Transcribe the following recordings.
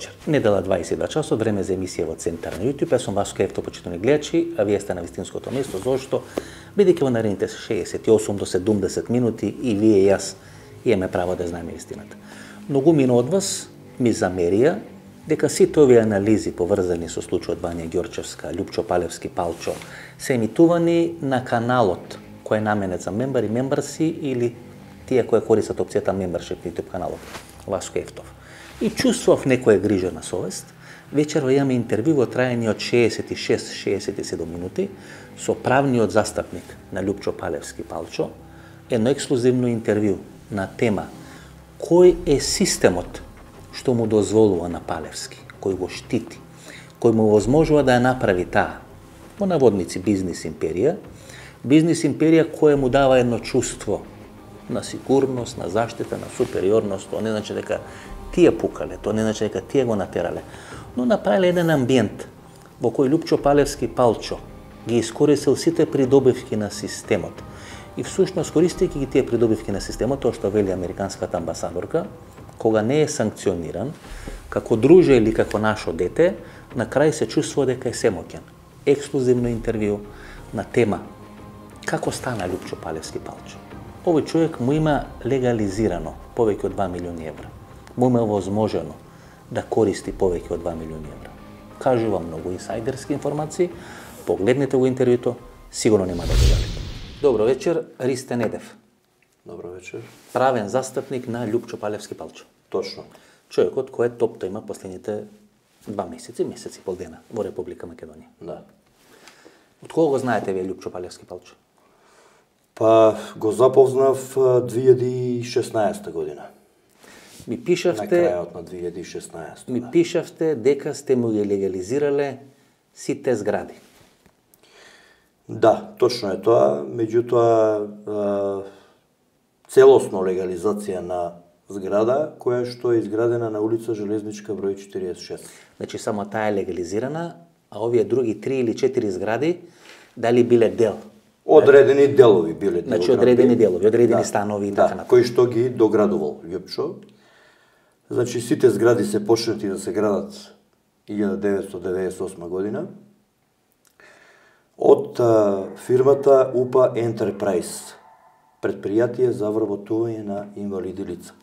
вечер. Недела 22 часот, време за емисија во Центар на YouTube. Јас сум Васко Ефто, почитувани гледачи, а вие сте на вистинското место. Зошто? Бидејќи во наредните 68 до 70 минути и вие и јас имаме право да знаеме истината. Многумина од вас ми замерија дека сите овие анализи поврзани со случајот Вања Ѓорчевска, Љупчо Палевски, Палчо се емитувани на каналот кој е наменет за мембари, мембарси или тие кои користат опцијата мембаршип на YouTube каналот Васко Ефтов. И чувствував некоја грижа совест. Вечерва имаме интервју во трајање од 66-67 минути со правниот застапник на Љупчо Палевски Палчо, едно ексклузивно интервју на тема кој е системот што му дозволува на Палевски, кој го штити, кој му возможува да ја направи таа, во наводници, бизнис империја која му дава едно чувство на сигурност, на заштита, на супериорност. Тоа не значи дека тие пукале, тоа не значи дека тие го натерале, но направиле еден амбиент во кој Љупчо Палевски Палчо ги искористил сите придобивки на системот. И всушност, користејќи ги тие придобивки на системот, тоа што вели американската амбасадорка, кога не е санкциониран, како друже или како нашо дете, на крај се чувствува дека е семоќен. Ексклузивно интервју на тема како стана Љупчо Палевски Палчо. Овој човек му има легализирано повеќе од 2 милиони евра. Му има возможено да користи повеќе од 2 милиони евра. Кажувам многу инсайдерски информации, погледнете го интервјуто, сигурно нема да го жалите. Добро вечер, Ристе Недев. Добро вечер. Правен застапник на Љупчо Палевски Палчо. Точно. Човекот кој е топ има последните 2 месеци, месец и пол дена во Република Македонија. Да. Од кого го знаете вие Љупчо Палевски Палчо? Па го запознав 2016 година. Ми пишавте на крајот на 2016. Ми пишавте дека сте му ги легализирале сите згради. Да, точно е тоа, меѓутоа целосно легализација на зграда која што е изградена на улица Железничка број 46. Значи само таа е легализирана, а овие други 3 или 4 згради дали биле дел? Одредени делови биле. Значи одредени делови, одредени станови и така натаму. Кои што ги доградувал Љупчо. Значи сите згради се почнати да се градат 1998 година од фирмата УПА Ентерпрајз, предпријатие за вработување на инвалиди лица.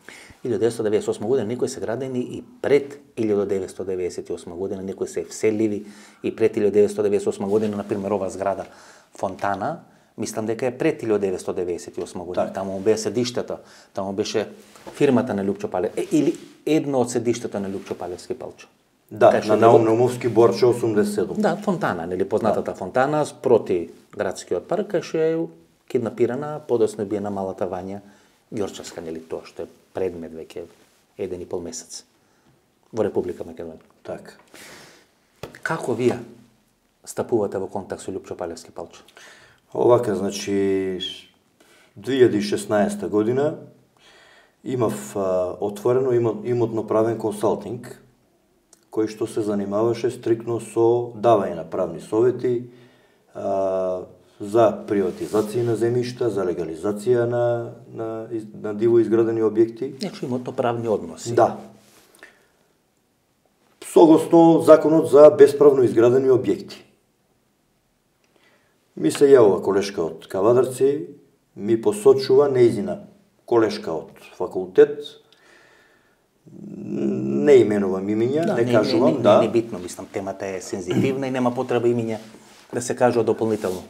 1998 година некои се градени и пред 1998 година, некои се вселливи и пред 1998 година, например ова зграда Фонтана, мислам дека е пред 1998 година. Так. Таму беше седиштето, таму беше фирмата на Љупчо Палевски, или едно од седиштата на Ljupчо Палевски Палчо. Да, на Наумовски Борче 87. Да, Фонтана, нели познатата фонтана спроти градскиот парк, кај што е киднапирана, подоцна биена малата Вања Ѓорчевска, нели тоа што е предмет веќе 1,5 месец во Република Македонија. Така. Како вие стапувате во контакт со Љупчо Палевски Палчо? Овака, значи 2016 година имав отворено имотно правен консалтинг кој што се занимаваше стрикно со давање на правни совети за приватизација на земјишта, за легализација на диво изградени објекти. Значи имотно правни односи. Да. Согласно законот за бесправно изградени објекти. Ми се јавува колешка од Кавадарци, ми посочува нејзина колешка од факултет, не именувам имиња, да, не кажувам, да. Не е битно, мислам, темата е сензитивна и нема потреба имиња да се кажува дополнително.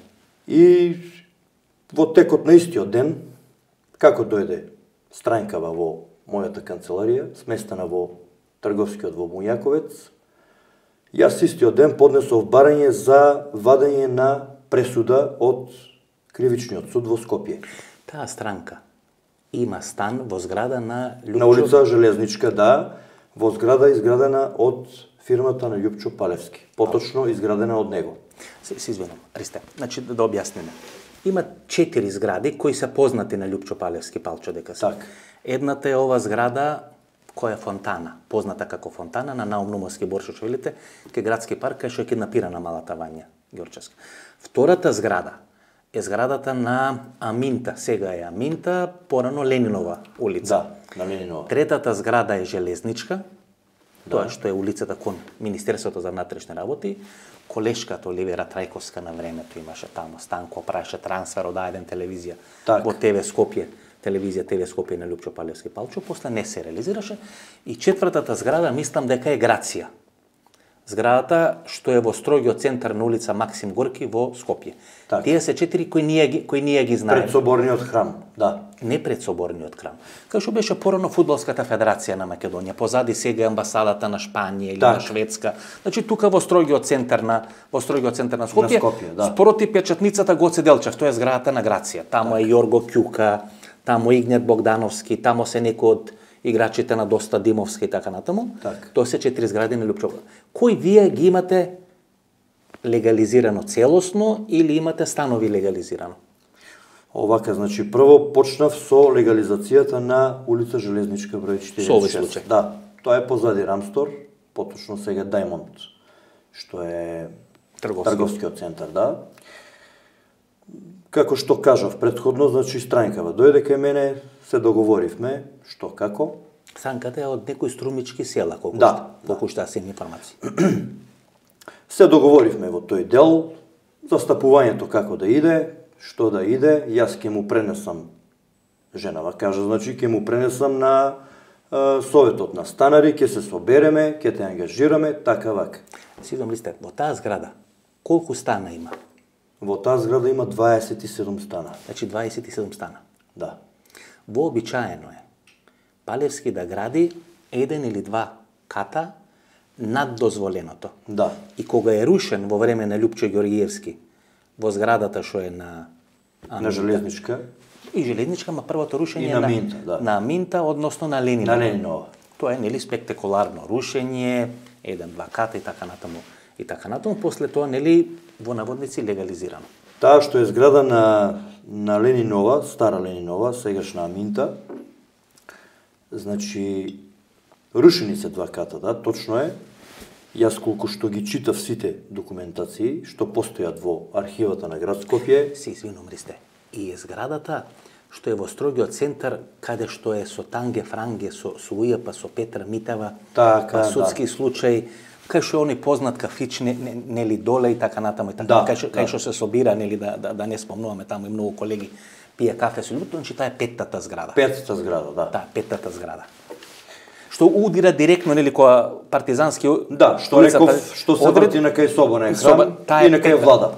И во текот на истиот ден, како дојде странкава во мојата канцеларија, сместена во трговскиот во Мујаковец, јас истиот ден поднесов барање за вадење на пресуда од Кривичниот суд во Скопје. Таа странка има стан во зграда на Љупчо... На улица Железничка, да, во зграда изградена од фирмата на Љупчо Палевски. Поточно изградена од него. Се извинувам, Ристе. Значи, да објасниме. Има 4 згради кои се познати на Љупчо Палевски Палчо дека се. Так. Едната е ова зграда која е Фонтана, позната како Фонтана на Наумовски Борче, што велите, кај градски парк, кај што е киднапирана малата Вања Ѓорчевска. Втората зграда е зградата на Аминта, сега е Аминта, порано Ленинова улица. Да, на Ленинова. Третата зграда е Железничка Тоа што е улицата кон Министерството за внатрешни работи, колешката Оливера Трајковска на времето имаше таму Станко праеше трансфер од А1 телевизија во ТВ Скопје, телевизија ТВ Скопје на Лјупчо Палевски Палчо, после не се реализираше. И четвртата зграда мислам дека е Грација. Зградата што е во строгиот центар на улица Максим Горки во Скопје. Тие се 4 кои ние ги знаеме. Пред соборниот храм, да. Не пред соборниот храм. Кај што беше порано фудбалската федерација на Македонија, позади сега амбасадата на Шпанија или на Шведска. Значи тука во строгиот центар на Скопје, спроти печатницата Гоце Делчев, тоа е зградата на Грација. Таму е Јорго Ќука, таму Игнет Богдановски, таму се некои од играчите на Доста Димовски и така натаму. Тоа се 4 згради на Лјупчо. Кој вие ги имате легализирано целосно или имате станови легализирано? Овака, значи, прво почнав со легализацијата на улица Железничка број 46. Со овој случај? Да, тоа е позади Рамстор, поточно сега Даймонд, што е трговскиот центар, да. Како што кажав предходно, значи Странкава дојде кај мене, се договоривме, што како. Странката е од некои струмички села, колку што се информации. Се договоривме во тој дел, застапувањето како да иде, што да иде, јас ќе му пренесам, женава кажа, значи ќе му пренесам на советот на станари, ќе се собереме, ќе те ангажираме, така вака. Сидом Листе, во таа зграда, колку стана има? Во таа зграда има 27 стана. Значи 27 стана. Да. Вообичаено е Палевски да гради еден или два ката над дозволеното. Да. И кога е рушен во време на Лјупчо Ѓорѓиевски во зградата што е на Железничка. И Железничка, ма првото рушење на Минта, да. На Минта, односно на Ленинова. На Ленинова. Тоа е нели спектакуларно рушење, еден-два ката и така натаму. И така натаму, после тоа нели во наводници легализирано. Таа што е зграда на Ленинова, стара Ленинова, сегашна Минта, значи рушени се два ката, да, точно е. Јас колку што ги читав сите документации што постојат во архивата на град Скопје, се извинувам, Ристе. И е зградата што е во строгиот центар, каде што е со Танге Франге, со УЈП, со Петра Митева, па судски случај, кај што е оној познат кафич нели доле и така натаму и така, кај што се собира, нели да не спомнуваме, таму и многу колеги пие кафе со луѓето, значи таа е петтата зграда. Петтата зграда, да. Да, петтата зграда. Што удира директно нели која партизански што реков, што се врти на кај соборен храм и на кај влада.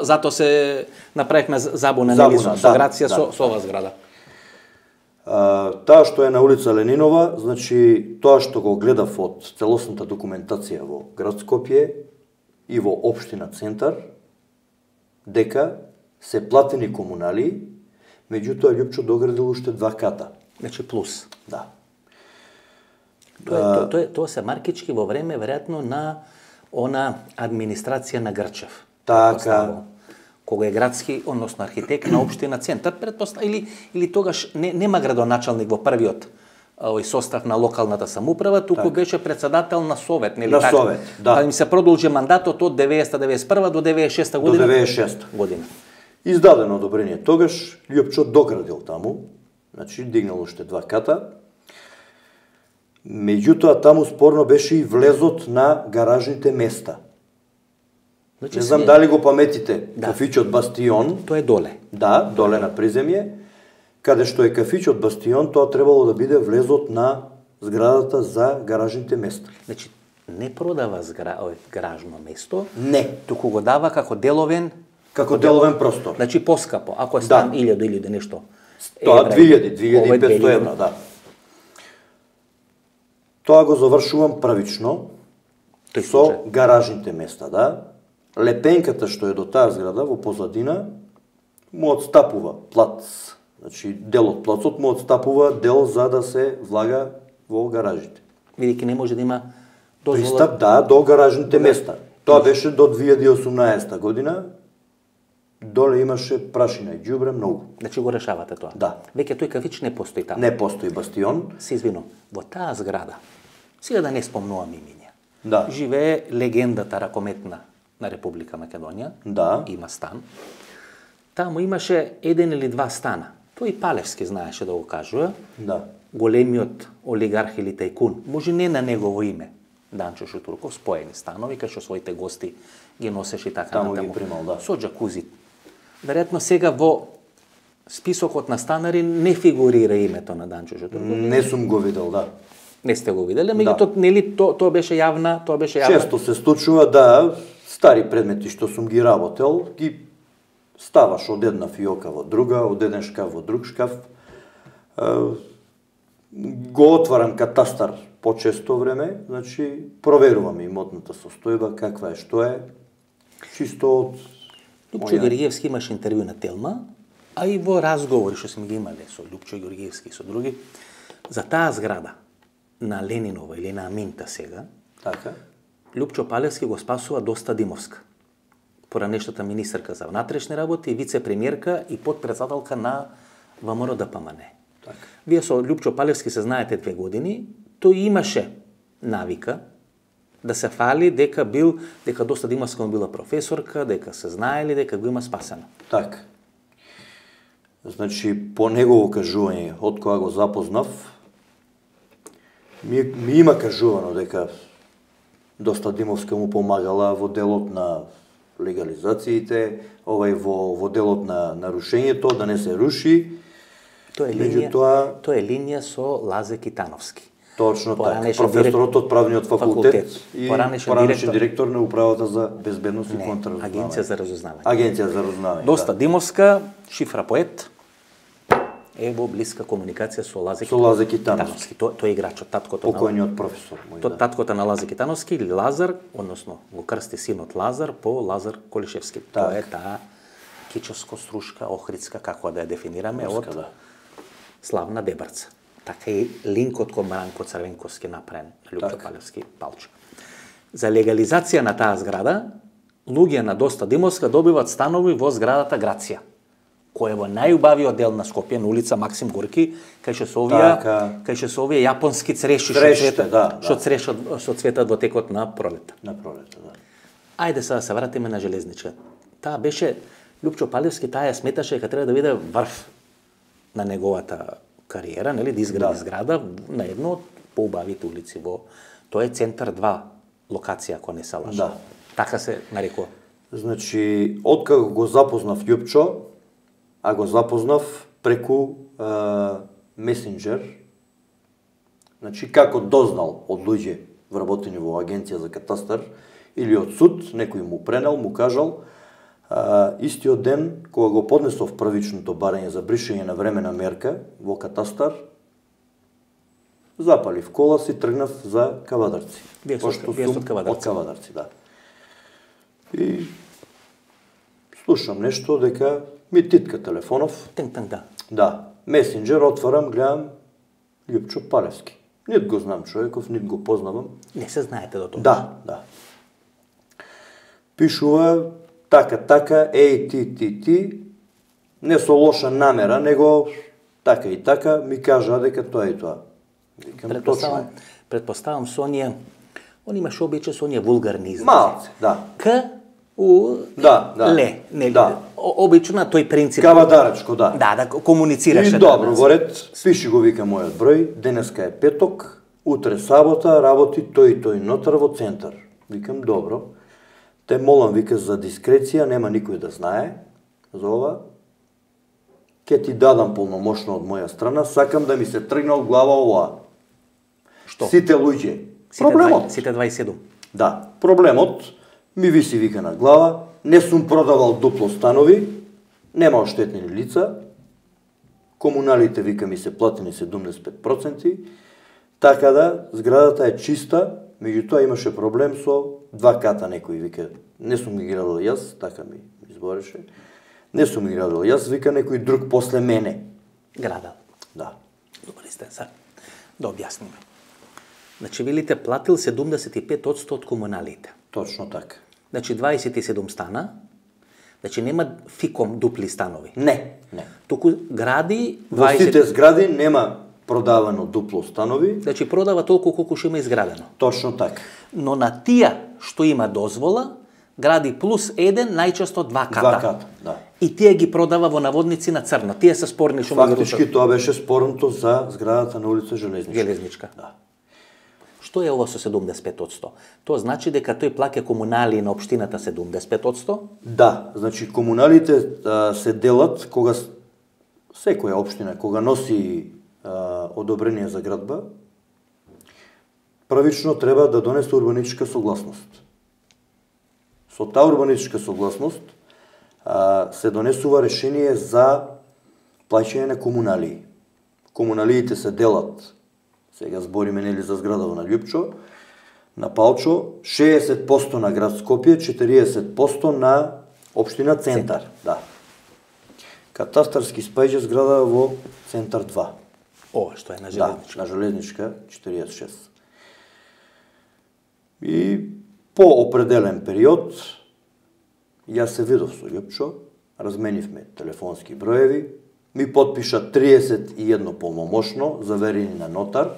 Зато се направивме забуна нели со Грација со оваа зграда. Таа што е на улица Ленинова, значи тоа што го гледав од целосната документација во град Скопје и во општина Центар, дека се платени комунали, меѓутоа Лјупчо доградил уште два ката. Значи плюс. Да. Тоа се маркички во време веројатно на она администрација на Грчев. Така. Кога е градски, односно архитект на општина Центар, или тогаш нема градоначалник во првиот овој состав на локалната самоуправа, туку беше председател на совет, нели така? На совет, да. Па им се продолжи мандатот од 90-91 до 96 година. До 96 година. Издадено одобрение тогаш, Лјупчо доградил таму, значи дигнал уште два ката. Меѓутоа таму спорно беше и влезот на гаражните места. Значи, не знам дали го паметите, кафичот Бастион. Тоа е доле. Да, доле на приземје. Каде што е кафичот Бастион, тоа требало да биде влезот на зградата за гаражните места. Значи, не продава гаражно место, не, туку го дава како деловен простор. Значи поскапо, ако е стан 1000 или нешто. Тоа 2500 евра, да. Тоа го завршувам правично со гаражните места, да. Лепенката што е до таа зграда во позадина му отстапува плац. Значи дел од плацот му отстапува дел за да се влага во гаражите. Бидејќи не може да има дозвола. Пристап, да, до гаражните места. Тоа беше до 2018 година. Доле имаше прашина и ѓубре многу. Значи го решавате тоа? Да. Веќе тој кафич не постои таму. Не постои Бастион. Се извинувам, во таа зграда, сега да не спомнувам имиња, да, живее легендата ракометна на Република Македонија. Да. Има стан. Таму имаше еден или два стана. Тој и Палевски знаеше да го кажува. Да. големиот олигарх или тајкун, може не на негово име, Данчо Шутурков, споени станови, кај што своите гости ги носеше и така Таму натаму. ги примал, да. Со джакузи. Веројатно сега во списокот на станари не фигурира името на Данчо Шутурков. Не сум го видел, да. Не сте го виделе, меѓутоа нели тоа беше јавна. Често се случува да стари предмети што сум ги работел, ги ставаш од една фиока во друга, од еден шкаф во друг шкаф. Го отварам катастар почесто време, значи проверувам имотната состојба, каква е, што е, чисто од Лупчо Георгиевски имаше интервју на Телма, а и во разговори што сме ги имале со Лупчо Георгиевски и со други, за таа зграда на Ленинова или на Аминта сега, Така. Лупчо Палевски го спасува Доста Димовска, поранешната министерка за внатрешни работи, вице-премиерка и подпредседателка на ВМРО ДПМН. Така. Вие со Лупчо Палевски се знаете 2 години, тој имаше навика да се фали дека Доста Димовска му била професорка, дека се знаели, дека го има спасено. Така. Значи, по негово кажување, од кога го запознав, ми има кажувано дека Доста Димовска му помагала во делот на легализациите, во делот на нарушењето, да не се руши. Тоа е линија со Лазе Китановски. Точно така. Професорот од правниот факултет и поранешен директор на управата за безбедност и контраразузнавање. Агенција за разузнавање. Агенција за разузнавање. Доста Димовска, шифра поет, е во блиска комуникација со Лазе Китановски. Тој е играчот, таткото на покојниот професор мој. Таткото на Лазе Китановски или Лазар, односно го крсти синот Лазар по Лазар Колишевски. Тоа е таа кичевско-струшка, охридска, како да ја дефинираме, од славна Дебарца. Така и линкот кон Маранко Црвенковски направен на Лупчо Палевски Палчо. За легализација на таа зграда, луѓе на Доста Димовска добиваат станови во зградата Грација, која е во најубавиот дел на Скопје, на улица Максим Горки, кај што се овие јапонски цреши што цветат во текот на пролета. На пролета, да. Ајде сега да се вратиме на железничка. Таа беше Лупчо Палевски, таа ја сметаше дека треба да биде врв на неговата кариера, нели, да изгради зграда на едно од поубавите улици во тоа е Центар 2 локација, ако не се лажам. Да. Така се нарекува. Значи, откако го запознав Љупчо, а го запознав преку месенџер, значи како дознал од луѓе вработени во агенција за катастар или од суд, некој му пренел, му кажал, истиот ден, кога го поднесов првичното барање за бришење на времена мерка во катастар, запалив кола си, тргнав за Кавадарци. Вие од Кавадарци? Од Кавадарци, да. И слушам нешто дека ми титка телефонов. Тенг-танг, да. Да. Месенџер отварам, гледам Љупчо Палевски. Нит го знам човеков, нит го познавам. Не се знаете до тоа? Да. Пишува така, ти, не со лоша намера, него така и така, ми кажа дека тоа и тоа. Предпоставам со оние, он имаше обичај со оние вулгарни изрази. Малце, да. Ле, нели? Обично тој принцип. Кавадарачко, да. Да комуницираше. И добро, во ред, пиши го вика мојот број, денеска е петок, утре сабота, работи тој нотар во центар. Викам, добро. Те молам, вика, за дискреција, нема никој да знае за ова. Ке ти дадам полномошно од моја страна, сакам да ми се тргне од глава ова. Што? Сите луѓе. Проблемот. Сите 27. Да, проблемот ми виси, вика, на глава, не сум продавал дупло станови, нема оштетени лица, комуналите, вика, ми се платени 75%, така да, зградата е чиста, меѓутоа имаше проблем со 2 ката некој, вика, не сум ги градил јас, така ми избореше, не сум ги градил јас, вика, некој друг после мене. Градал. Да. Добре сте, сега да објасниме. Значи, велите платил 75% од комуналите. Точно така. Значи, 27 стана, значи нема фиком дупли станови. Не. Туку гради 20... Во сите згради нема продавано дупло станови. Значи, продава толку колку што има изградено. Точно така. Но на тие што има дозвола, гради плюс 1, најчесто 2 ката. 2 ката, да. И тие ги продава во наводници на црно. Тие се спорни што Фактички тоа беше спорното за зградата на улица Железничка. Да. Што е ова со 75%? Тоа значи дека тој плаќа комунали на општината 70%? Да, значи комуналите се делат кога секоја општина кога носи одобрение за градба, првично треба да донесе урбанистичка согласност. Со таа урбанистичка согласност се донесува решение за плаќање на комунали. Комуналиите се делат, сега збориме нели за зградава на Лјупчо, на Палчо, 60% на град Скопје, 40% на општина Центар. Да. Катастарски спаѓа зграда во Центар 2. Ова што е на Железничка. Да, на Железничка 46. И по определен период јас се видов со Лјупчо, разменивме телефонски броеви, ми потпиша 31 полномошно, заверени на нотар.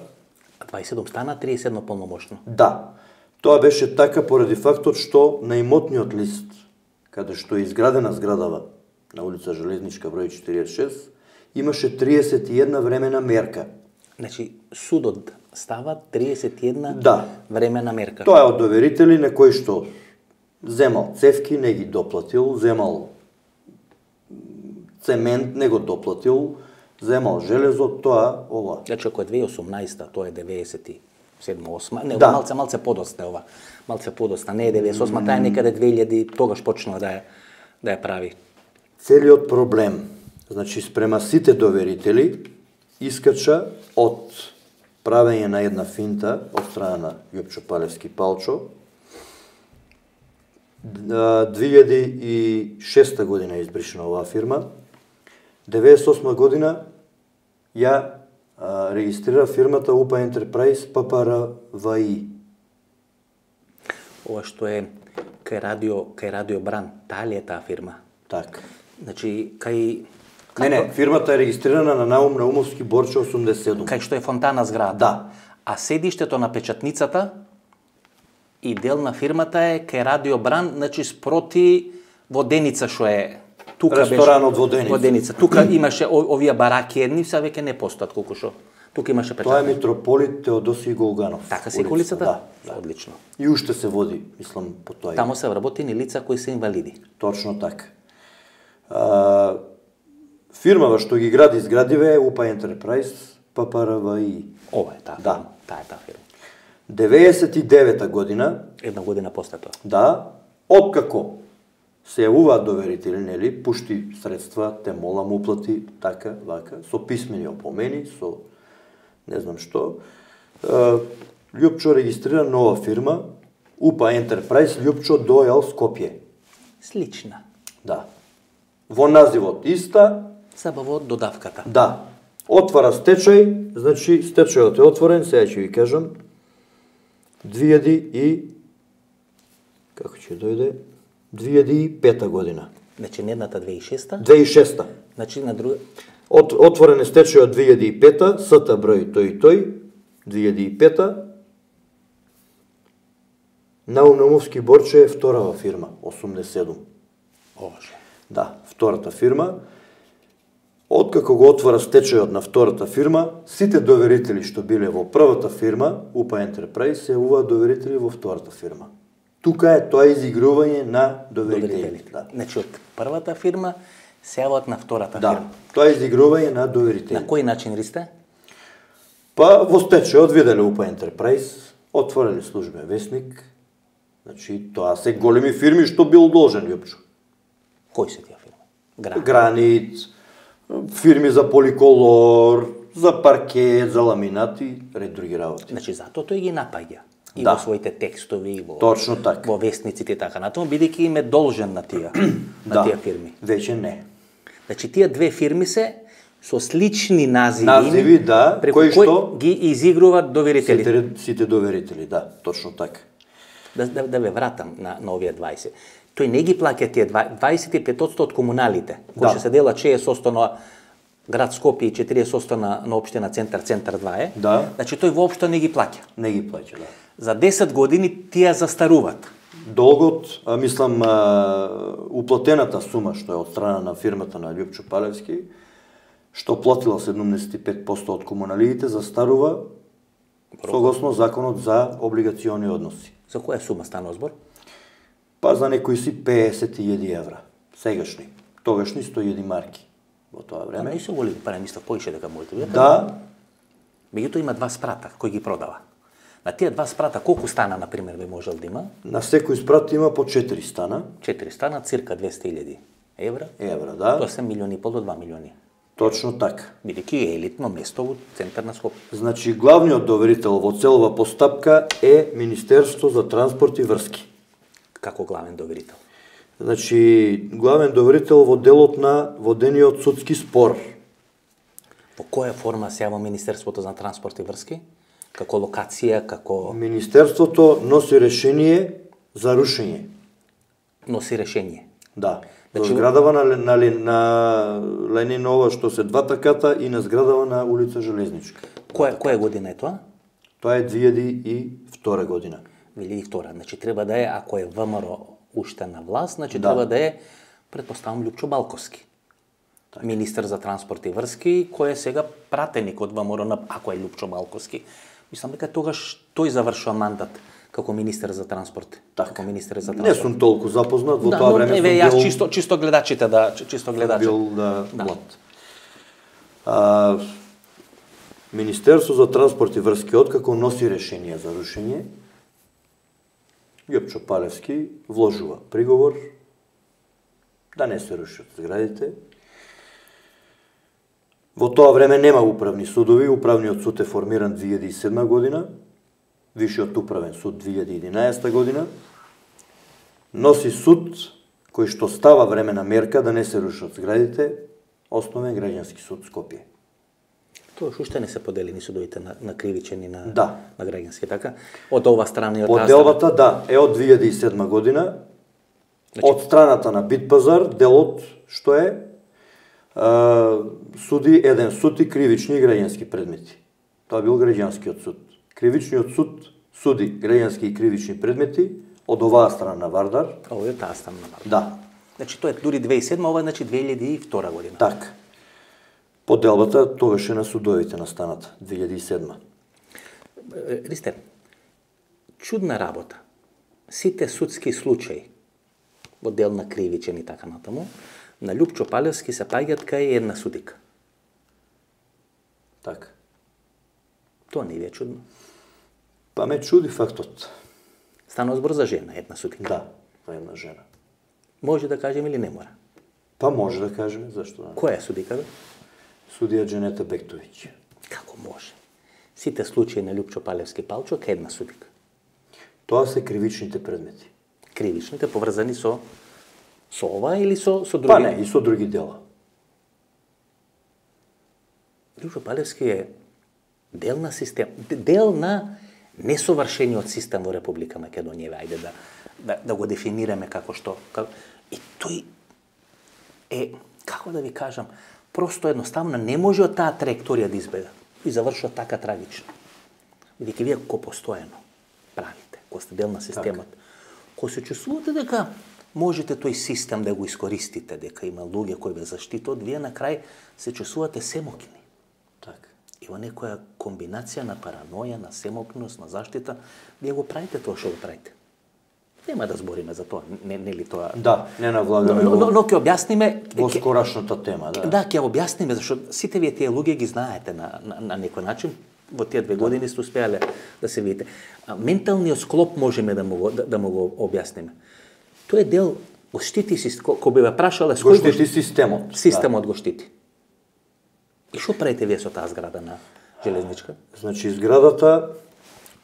А 27 стана 31 полномошно. Да, тоа беше така поради фактот што на имотниот лист, каде што е изградена зградава на улица Железничка број 46, имаше 31 времена мерка. Значи, судот става 31 Да. времена мерка. Тоа е од доверители на кој што земал цевки, не ги доплатил, земал цемент, не го доплатил, земал железо, тоа, ова. Значи, ако е 2018, тоа е 97-8, не, Да. малце подоста е ова. Малце подоста, не е 98, таа е некаде 2000, тогаш почнува да ја прави. Целиот проблем, значи спрема сите доверители, искача од правење на една финта од страна на Лјупчо Палевски Палчо. 2006 година е избришена оваа фирма. 98 година ја регистрира фирмата УПА Ентерпрајз ППРВИ. Ова што е кај Радио Бран, таа ли е таа фирма? Так. Значи, кај Не, фирмата е регистрирана на Наум Наумовски Борче 87. кај што е фонтана зграда. Да. А седиштето на печатницата и дел на фирмата е кај Радио Бран, значи спроти Воденица што е тука Ресторанот Воденица. Воденица. Тука имаше овие бараки едни, сега веќе не постојат колку што. Тука имаше Тоа е печатници. Митрополит Теодосиј Голганов. Така се улицата? Да. Одлично. И уште се води, мислам, по тоа. Тамо се вработени лица кои се инвалиди. Точно така. Фирмава што ги гради зградиве е УПА Ентерпрајз ППРВИ. Ова е таа Да. фирма. Таа е таа фирма. 99 година, Една година после тоа. да, откако се јавуваат доверители, нели, пушти средства, те молам уплати, така, вака, со писмени опомени, со не знам што, Лјупчо регистрира нова фирма, УПА Ентерпрајз Лјупчо Дојал Скопје. Слична. Да. Во називот иста, Саба во додавката. да. Отвара стечај, значи стечајот е отворен, сега ќе ви кажам, 2000 и како ќе дојде 2005 година. Значи, не едната 2006-та, 2006. значи на друга... Отворен е стечајот 2005, СТ број тој 2005. Наум Наумовски Борче е вторава фирма, 87. Боже. Да, втората фирма. Откако го отвора стечајот на втората фирма, сите доверители што биле во првата фирма, УПА Ентерпрајз, се јавуваат доверители во втората фирма. Тука е тоа изигрување на доверителите. Да. Значи, од првата фирма се јават на втората Да, фирма. тоа е изигрување на доверители. На кој начин ристе? Па во стечајот виделе УПА Ентерпрајз, отвориле службен весник, значи тоа се големи фирми што бил должен Лјупчо. Кои се тие фирми? Гранит, фирми за поликолор, за паркет, за ламинати, ред други работи. Значи, затоа тој ги напаѓа. И Да. во своите текстови, и во, Точно така. во вестниците и така натаму, бидејќи им е должен на тие, на Да, тие фирми. веќе не. Значи, тие две фирми се со слични називи, Називи, да, преку кои кои што ги изигруваат доверителите. Сите доверители, да, точно така. Да ве вратам на овие 20. Тој не ги плаќа тие 25% од комуналите, кои Да. ќе се дела 60% на град Скопје и 40% на општина Центар 2 е. Да. Значи тој воопшто не ги плаќа. Не ги плаќа, да. За 10 години тие застаруваат. долгот, уплатената сума што е од страна на фирмата на Љупчо Палевски, што платила 75% од комуналиите, застарува согласно законот за облигациони односи. За која сума стана збор? Па за некои си 50.000 евра. Сегашни. Тогашни 100.000 марки во тоа време. Не се големи пари, мислам поише дека можете да. Да. Меѓутоа има два спрата кои ги продава. На тие два спрата колку стана на пример би можел да има? На секој спрат има по 4 стана. 4 стана, цирка 200.000 евра. Да. Тоа се 1,5 милиони до 2 милиони. Точно така. Бидејќи е елитно место во центар на Скопје. Значи, главниот доверител во целова постапка е Министерство за транспорт и врски. Како главен доверител? Значи, главен доверител во делот на водениот судски спор. Во која форма се јава Министерството за транспорт и врски? Како локација, како... Министерството носи решение за рушење. Носи решение. Да. Значи, зградава на Ленинова, што се двата ката, и на зградава на улица Железничка. Која година е тоа? Тоа е 2002 година. 2002. Значи треба да е, ако е ВМРО уште на власт, значи треба да е, предпоставам, Љупчо Балковски. Так. Министер за транспорт и врски, кој е сега пратеник од ВМРО, ако е Љупчо Балковски. Мислам дека тогаш тој завршува мандат како министер за транспорт. Така. Како министер за транспорт. Не сум толку запознат во тоа време. Да, јас чисто гледачите Бил млад. Министерство за транспорт и врски откако носи решение за рушење, Љупчо Палевски вложува приговор да не се рушат зградите. Во тоа време нема управни судови, управниот суд е формиран 2007 година, Вишиот управен суд 2011 година, носи суд кој што става времена мерка да не се рушат зградите, Основен граѓански суд Скопје. Тоа уште не се поделени судовите на кривичен и на граѓански, така? Од ова страна и од таа страна? Поделбата, е од 2007 година. Значи... Од страната на Битпазар, делот што е суди еден суд и кривични и граѓански предмети. Тоа бил граѓанскиот суд. Кривичниот суд суди граѓански и кривични предмети од оваа страна на Вардар. Ова е таа страна на Вардар. Да. Значи тоа е дури 2007, ова е значи 2002 година. Така. Поделбата тогаш е на судовите на станата, 2007. Ристер, чудна работа. Сите судски случаи, во дел на кривичен и така натаму, на Љупчо Палевски се паѓат кај една судика. Така. Тоа не ви е чудно? Па ме чуди фактот. Стана збор за жена, една судика. Да, за една жена. Може да кажем или не мора? Па може да кажеме, зашто да. Која е судика, бе? Судија Дженета Бектовиќ. Како може? Сите случаи на Љупчо Палевски Палчо кај една судика. Тоа се кривичните предмети. Кривичните поврзани со ова или со други? Па не, и со други дела. Љупчо Палевски е дел на систем, дел на несовршениот систем во Република Македонија, ајде да го дефинираме како што. И тој е, како да ви кажам, просто едноставно не може од таа траекторија да избега и завршува така трагично. Бидејќи вие ко постојано правите, ко сте дел на системот, ко се чувствувате дека можете тој систем да го искористите, дека има луѓе кои ве заштитат, вие на крај се чувствувате семокни. Така. И во некоја комбинација на параноја, на семокност, на заштита, вие го правите тоа што го правите. Нема да збориме за тоа, нели тоа? Да, не навлагаме но ќе објасниме во скорашната тема, да. Да, ќе објасниме зашто сите вие тие луѓе ги знаете на некој начин, во тие 2 години сте успеале да се видите. Менталниот склоп можеме да му го објасниме. Тој е дел го штити кога би ве прашале го штити системот. Системот го штити. И што правите вие со таа зграда на Железничка? Значи зградата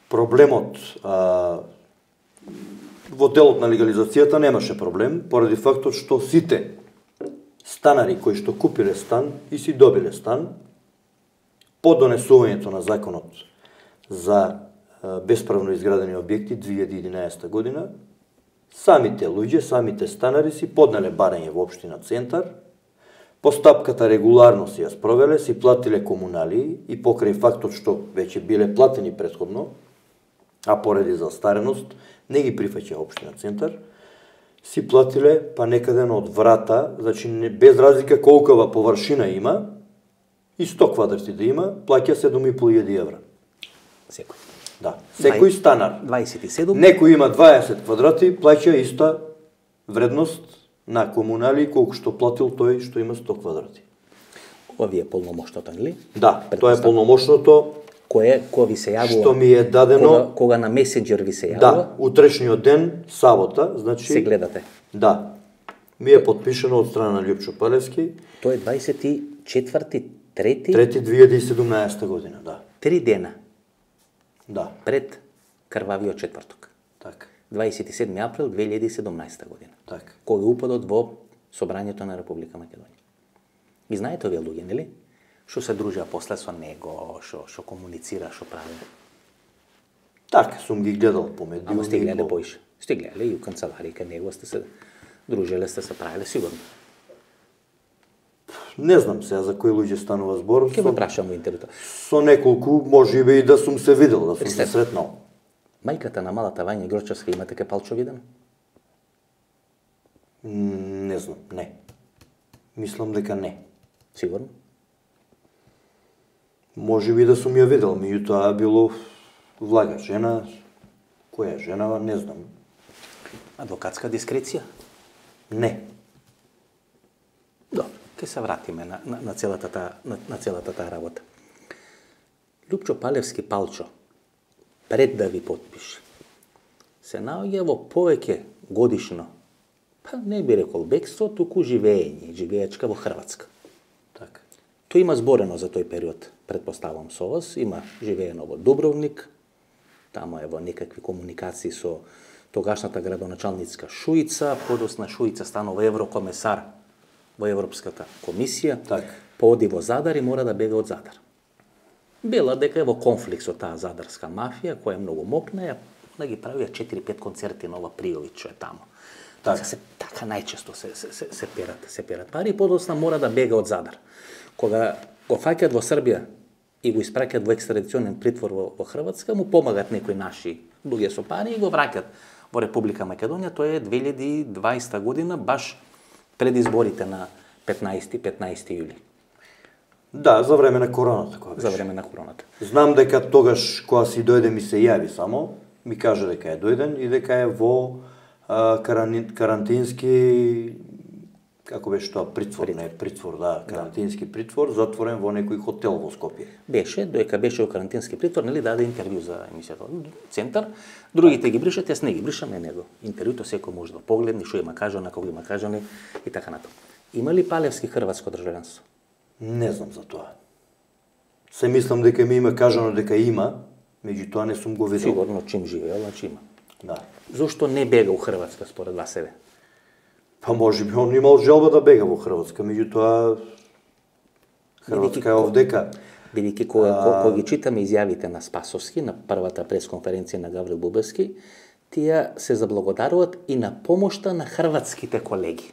проблемот во делот на легализацијата немаше проблем, поради фактот што сите станари кои што купиле стан и си добиле стан, по донесувањето на законот за бесправно изградени објекти 2011 година, самите луѓе, самите станари си поднале барање во општина Центар, постапката регуларно си ја спровеле, си платиле комуналии и покрај фактот што веќе биле платени претходно, а поради застареност не ги прифаќа општина Центар, си платиле па некаден од врата, значи без разлика колкава површина има, и 100 квадрати да има, плаќа 7.500 евра. Секој. Да, секој станар. 27. Некој има 20 квадрати, плаќа иста вредност на комунали колку што платил тој што има 100 квадрати. Овие полномошното, нели? Да, тоа е полномошното. Кој ви се јавува? Што ми е дадено кога на месенџер ви се јавува? Да, утрешниот ден, сабота, значи се гледате. Да. Ми е подпишано од страна на Лјупчо Палевски. Тоа е 24-ти, 2017 година, да. 3 дена. Да. Пред крвавиот четврток. Така. 27 април 2017 година. Така. Кој е упадот во Собранието на Република Македонија. Ги знаете овие луѓе, нели? Што се дружија после со него, што комуницира, што прави. Така, сум ги гледал по медиуми. Ама сте гледале поише. Сте гледале и у канцеларија кај него сте се дружиле, сте се правиле сигурно. Не знам сега за кои луѓе станува збор. Ќе ме прашам во интервјуто. Со неколку можеби и да сум се видел, да сум се сретнал. Мајката на малата Вања Грочевска имате ке Палчо виден? Не знам, не. Мислам дека не. Сигурно? Можеби да сум ја видел, меѓутоа било влага жена, која жена, не знам. Адвокатска дискреција? Не. Добро, ќе се вратиме на целата таа работа. Лјупчо Палевски Палчо, пред да ви подпише, се наоѓа во повеќе годишно, па не би рекол бегство, туку живеечка во Хрватска. Така. Тој има зборено за тој период, предпоставам со вас, има живеено во Дубровник, тамо е во некакви комуникации со тогашната градоначалницка Шуица, подосна Шуица станува еврокомесар во Европската комисија, така. Пооди во Задар и мора да бега од Задар. Бела дека е во конфликт со таа задарска мафија, која е многу мокна, да ги правија 4-5 концерти на ова Пријовиќ, што е тамо. Така. Така најчесто се перат пари и подосна мора да бега од Задар. Кога го фаќат во Србија и го испраќат во екстрадиционен притвор во Хрватска, му помагат некои наши луѓе со пари и го враќат во Република Македонија. Тоа е 2020 година, баш пред изборите на 15 јули. Да, за време на короната. За време на короната. Знам дека тогаш, кога си дојде, ми се јави само, ми кажа дека е дојден и дека е во карантински, како беше тоа, притвор, да, карантински притвор, затворен во некој хотел во Скопје. Доека беше во карантински притвор, нели даде интервју за емисијата Центар, другите ги бришат, јас не ги бришам, него. Интервјуто секој може да погледне, што има кажано, како има кажано и така натаму. Има ли Палевски хрватско државјанство? Не знам за тоа. Се мислам дека ми има кажано дека има, меѓутоа не сум го видел. Сигурно чим живеел, значи има. Да. Зошто не бега у Хрватска според вас себе? Па можеби он имал желба да бега во Хрватска, меѓутоа Хрватска е овдека. Бидејќи кога ги читаме изјавите на Спасовски на првата пресконференција на Гаврил Бубевски, тие се заблагодаруваат и на помошта на хрватските колеги.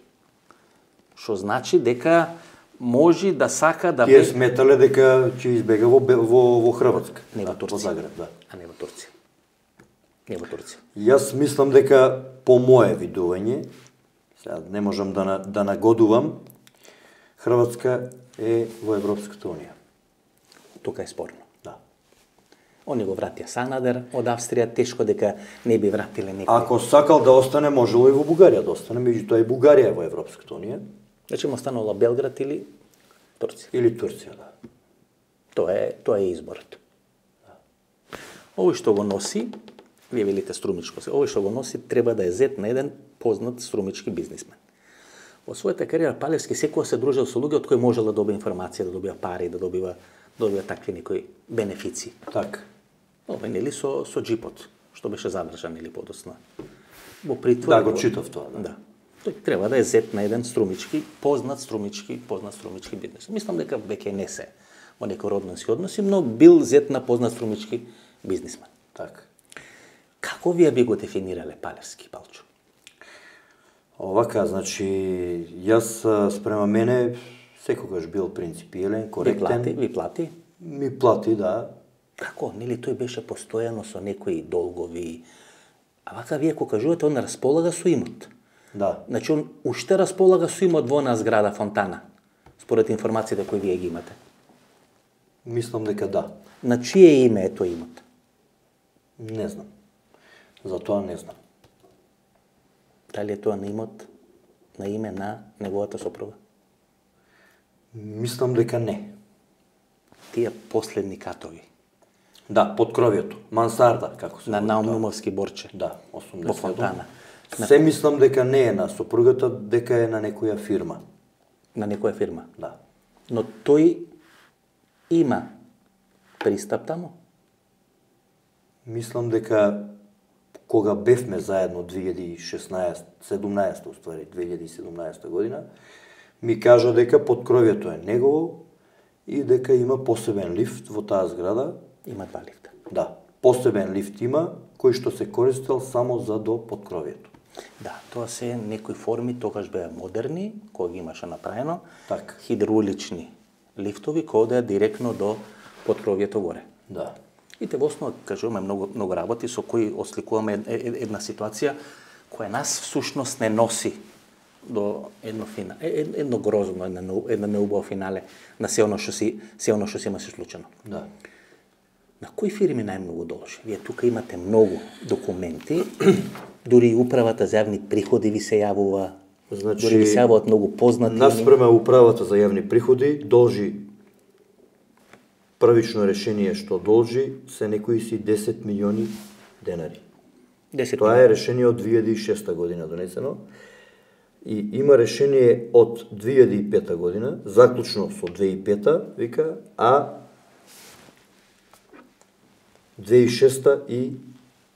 Што значи дека може да сака да Тие сметале дека ќе избега во Хрватска. Не во Турција. Во Загреб, да. А не во Турција. Не во Турција. Јас мислам дека по мое видување, сега не можам да нагодувам, Хрватска е во Европската унија. Тука е спорно. Да. Они го вратија Санадер од Австрија, тешко дека не би вратиле некој. Ако сакал да остане, можело и во Бугарија да остане, меѓутоа и Бугарија е во Европската унија. Значи му останала Белград или Турција. Или Турција, да. Тоа е изборот. Да. Овој што го носи, вие велите струмичко се, овој што го носи треба да е зет на еден познат струмички бизнисмен. Во својата кариера Палевски секоја се дружил со луѓе од кои можел да добие информација, да добива пари, да добива такви некои бенефиции. Така. Овој нели со джипот, што беше задржан или подосна во притвор. Да, го читав тоа. Да. Тој треба да е зет на еден познат струмички бизнес. Мислам дека веќе не се во некои роднински односи, но бил зет на познат струмички бизнисмен. Така. Како вие би го дефинирале Палевски, Палчо? Овака, значи, јас спрема мене секогаш бил принципиелен, коректен. Ви плати? Ми плати, да. Како, нели тој беше постојано со некои долгови, а вака вие кога кажувате, он располага со имот. Да. Значи, он уште располага со имот во онаа зграда Фонтана, според информациите кои вие ги имате. Мислам дека да. На чие име е тој имот? Не знам. За тоа не знам. Дали е тоа на имот, на име на неговата сопруга? Мислам дека не. Тие последни катови. Да, под кровјето. Мансарда, како се На води Наумовски борче. тоа. Да, 80. Во Фонтана. Се мислам дека не е на сопругата, дека е на некоја фирма. На некоја фирма. Да. Но тој има пристап таму? Мислам дека кога бевме заедно 17 уствари, 2017 година, ми кажа дека под кровјето е негово и дека има посебен лифт во таа зграда. Има два лифта. Да, посебен лифт има, кој што се користел само за до подкровието. Да, тоа се некои форми, тогаш беа модерни, кои ги имаше направено, Така. хидраулични лифтови, кои одеа директно до подкровието горе. Да. И те во основа, кажуваме, многу работи со кои осликуваме една ситуација која нас всушност не носи до едно грозно, една неубава финале на се оно што си има се случено. Да. На кои фирми најмногу должи? Вие тука имате многу документи, дури и управата за јавни приходи ви се јавува, Значи, дури ви се јавуваат многу познати. Наспрема управата за јавни приходи должи првично решение што должи се некои си 10 милиони денари. 10 Тоа е решение од 2006 година донесено и има решение од 2005 година, заклучно со 2005 вика, а 2005 и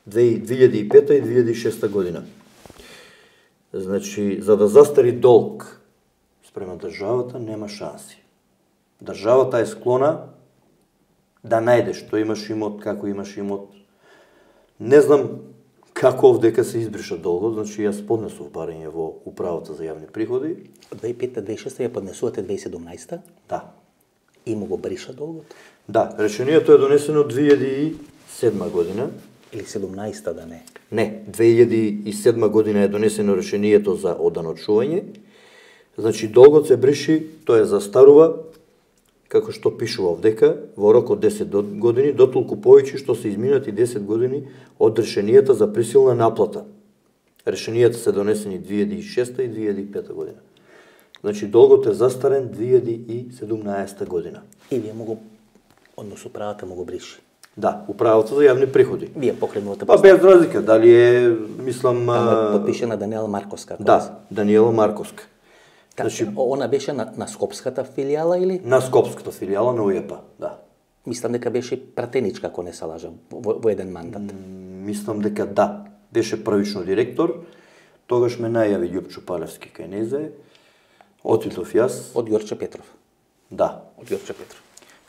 2006 година. Значи, за да застари долг спрема државата, нема шанси. Државата е склона да најде што имаш имот, како имаш имот. Не знам како овдека се избриша долгот, значи јас поднесов барање во управата за јавни приходи. 2005-2006 ја поднесувате 2017 Да. и му го бриша долгот? Да, решението е донесено 2007 година. Или 17-та да не? Не, 2007 година е донесено решението за оданочување. Значи, долгот се бриши, тој застарува, како што пишува овдека, во рок од 10 години, дотолку повеќе што се изминати 10 години од решенијата за присилна наплата. Решенијата се донесени 2006 и 2005 година. Значи, долгот е застарен 2017 година. И вие му го, односно управата му го бриши. Да, управата за јавни приходи. Вие покренувате Па без разлика, дали е, мислам... Таму е подпишена Даниела Марковска. Да, Даниела Марковска. Значи, она беше на Скопската филијала или? На Скопската филијала на УЈП, да. Мислам дека беше пратеничка, ако не се лажам, во еден мандат. Мислам дека да. Беше првично директор, тогаш ме најави Љупчо Палевски кај незе, отидов јас. Од Ѓорче Петров. Да. Од Ѓорче Петров.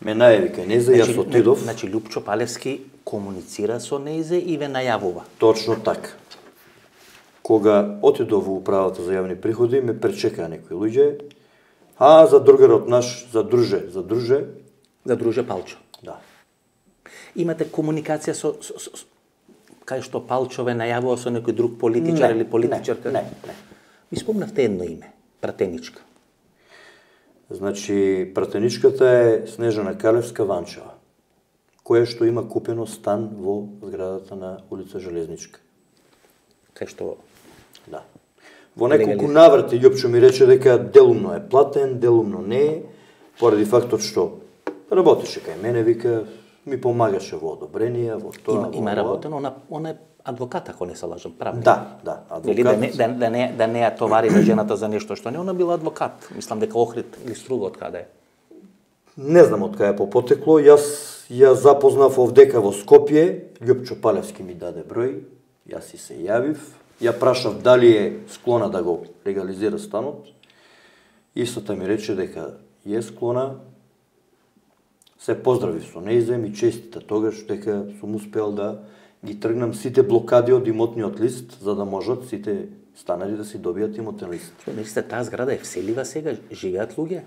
Ме најави кај незе, јас отидов. Значи, Љупчо Палевски комуницира со незе и ве најавува. Точно така. Кога отидов во управата за јавни приходи, ме пречекаа некои луѓе. За другарот наш, за друже. За друже Палчо. Да. Имате комуникација со кај што Палчо ве најавува со некој друг политичар или политичарка? Не. Ми спомнавте едно име, пратеничка. Значи, пратеничката е Снежана Калевска Ванчева, која што има купено стан во зградата на улица Железничка. Кај што... Да. Во неколку наврати Љупчо ми рече дека делумно е платен, делумно не е, поради фактот што работеше кај мене, вика, ми помагаше во одобрение, во тоа. Има работено, она е адвокат, ако не се лажам, правник. Да, адвокат. Да не ја товари на жената за нешто што не, она била адвокат. Мислам дека Охрид или Струга од каде е. Не знам од кај е попотекло, јас ја запознав овдека во Скопје, Љупчо Палевски ми даде број, јас и се јавив, ја прашав дали е склона да го легализира станот. Истата ми рече дека е склона. Се поздравив со нејзе, ми честита тогаш дека сум успеал да ги тргнам сите блокади од имотниот лист, за да можат сите станари да си добијат имотен лист. Мислите, таа зграда е вселива сега? Живеат луѓе?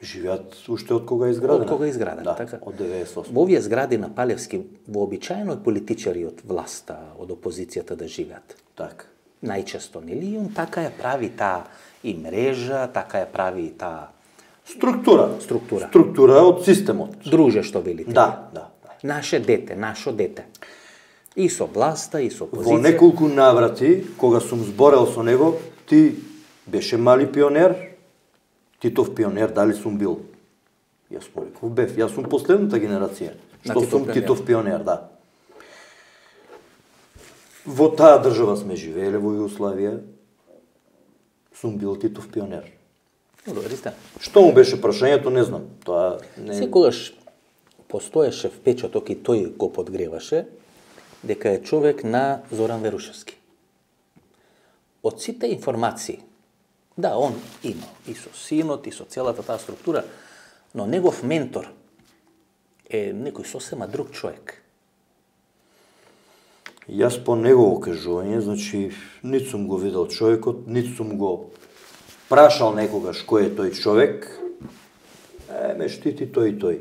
Живеат уште од кога е изградена. Од кога е изградена, да, така. Од 98. Во овие згради на Палевски вообичаено е политичари од власта, од опозицијата да живеат. Така. Најчесто, нели? И он така ја прави таа и мрежа, така ја прави и таа Структура. Структура од системот. Друже, што велите. Да. Наше дете, нашо дете. И со власта, и со опозиција. Во неколку наврати, кога сум зборел со него, ти беше мали пионер, Титов пионер, дали сум бил? Јас му реков, бев, јас сум последната генерација. Што сум Титов пионер, да. Во таа држава сме живееле, во Југославија, сум бил Титов пионер. Добре сте. Што му беше прашањето, не знам. Тоа не... Секогаш постоеше впечаток и тој го подгреваше, дека е човек на Зоран Верушевски. Од сите информации, да, он има и со синот, и со целата таа структура, но негов ментор е некој сосема друг човек. Јас по негово кажување, значи, нит сум го видел човекот, нит сум го прашал некогаш кој е тој човек, ме штити тој и тој.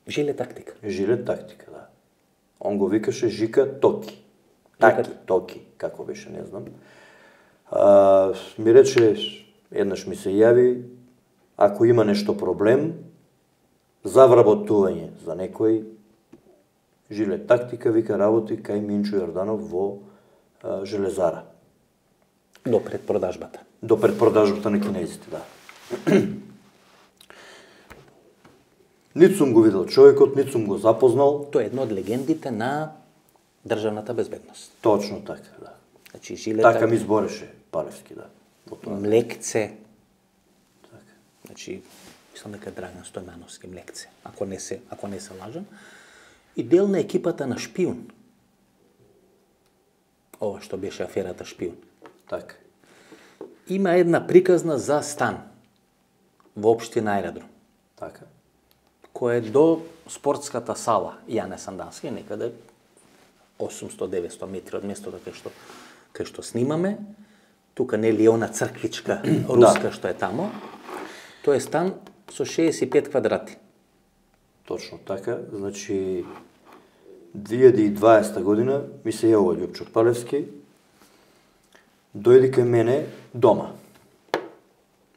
Жиле тактика. Жиле тактика, да. Он го викаше Жика Токи. Токи, како беше, не знам. Ми рече, еднаш ми се јави, ако има нешто проблем, за вработување за некој, жиле тактика, вика работи кај Минчо Јорданов во Железара. До предпродажбата. До предпродажбата на кинезите, да. Нит сум го видел човекот, нит сум го запознал. Тоа е една од легендите на државната безбедност. Точно така, да. Значи, жиле така ми збореше Палевски, да. Млекце. Така. Значи, мислам дека Драган Стојмановски Млекце, ако не се лажам. И дел на екипата на Шпиун. Ова што беше аферата Шпиун. Така. Има една приказна за стан во општина Аеродром. Така. Кој е до спортската сала Јане Сандански, некаде 800-900 метри од местото кај што снимаме. Тука нели она црквичка руска што е тамо. Тоа е стан со 65 квадрати. Точно така. Значи 2020 година ми се јавува Љупчо Палевски, дојди кај мене дома.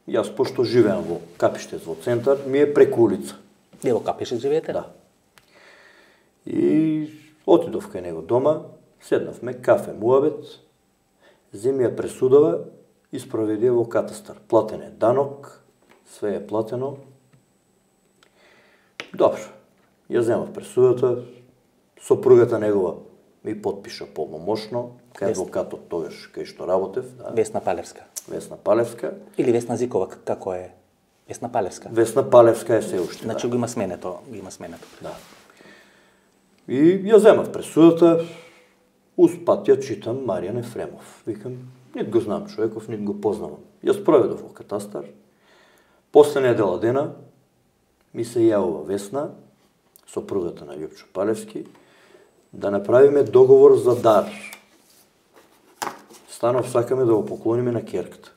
Јас пошто живеам во Капиштец во центар, ми е преку улица. Не во Капиштец живеете? Да. И отидов кај него дома, седнавме, кафе, муабет, земја пресудова и спроведи во катастар. Платен е данок, све е платено. Добро, ја земав пресудата, сопругата негова ми подпиша полномошно, кај адвокатот тогаш кај што работев. Да. Весна Палевска. Весна Палевска. Или Весна Зикова, како е? Весна Палевска. Весна Палевска е се уште. Значи да. го има сменето. Да. И ја земав пресудата, успат ја читам Маријан Ефремов. Викам, нит го знам човеков, нит го познавам. Ја спроведов во катастар. После недела дена ми се јавува Весна, сопругата на Љупчо Палевски, да направиме договор за дар. Станов, сакаме да го поклониме на керката.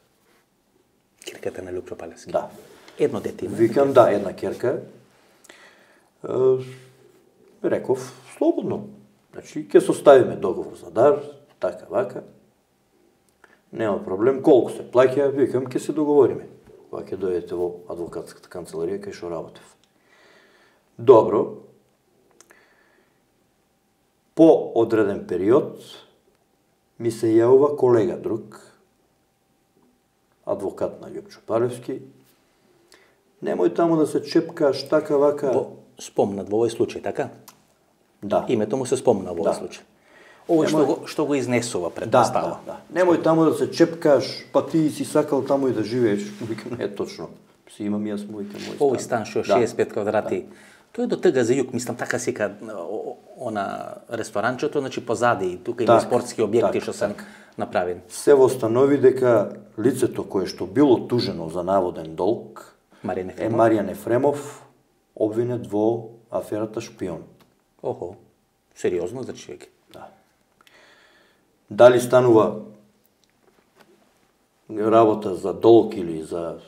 Керката на Љупчо Палевски? Да. Едно дете има? Викам, да, една керка. Реков, слободно. Значи, ќе составиме договор за дар, така, вака. Нема проблем. Колку се плаќа, викам, ќе се договориме. Кога ќе дојдете во адвокатската канцеларија, кај што работев. Добро. По одреден период ми се јавува колега друг, адвокат на Љупчо Палевски. Немој таму да се чепкаш, така, вака. Спомнат во овој случај, така? Да. Името му се спомна во овој случај. Овој што го изнесува пред постава. Да. Немој таму да се чепкаш, па ти си сакал таму и да живееш. Викам, не е точно. Си имам јас мој стан. Овој стан што 65 квадрати. Тој е до ТГ за југ, мислам така сика она ресторанчето, значи позади, тука има спортски објекти што се направени. Се восстанови дека лицето кое што било тужено за наводен долг е Маријан Ефремов, обвинет во аферата Шпион. Охо, сериозно, значи веќе. Да. Дали станува работа за долг или за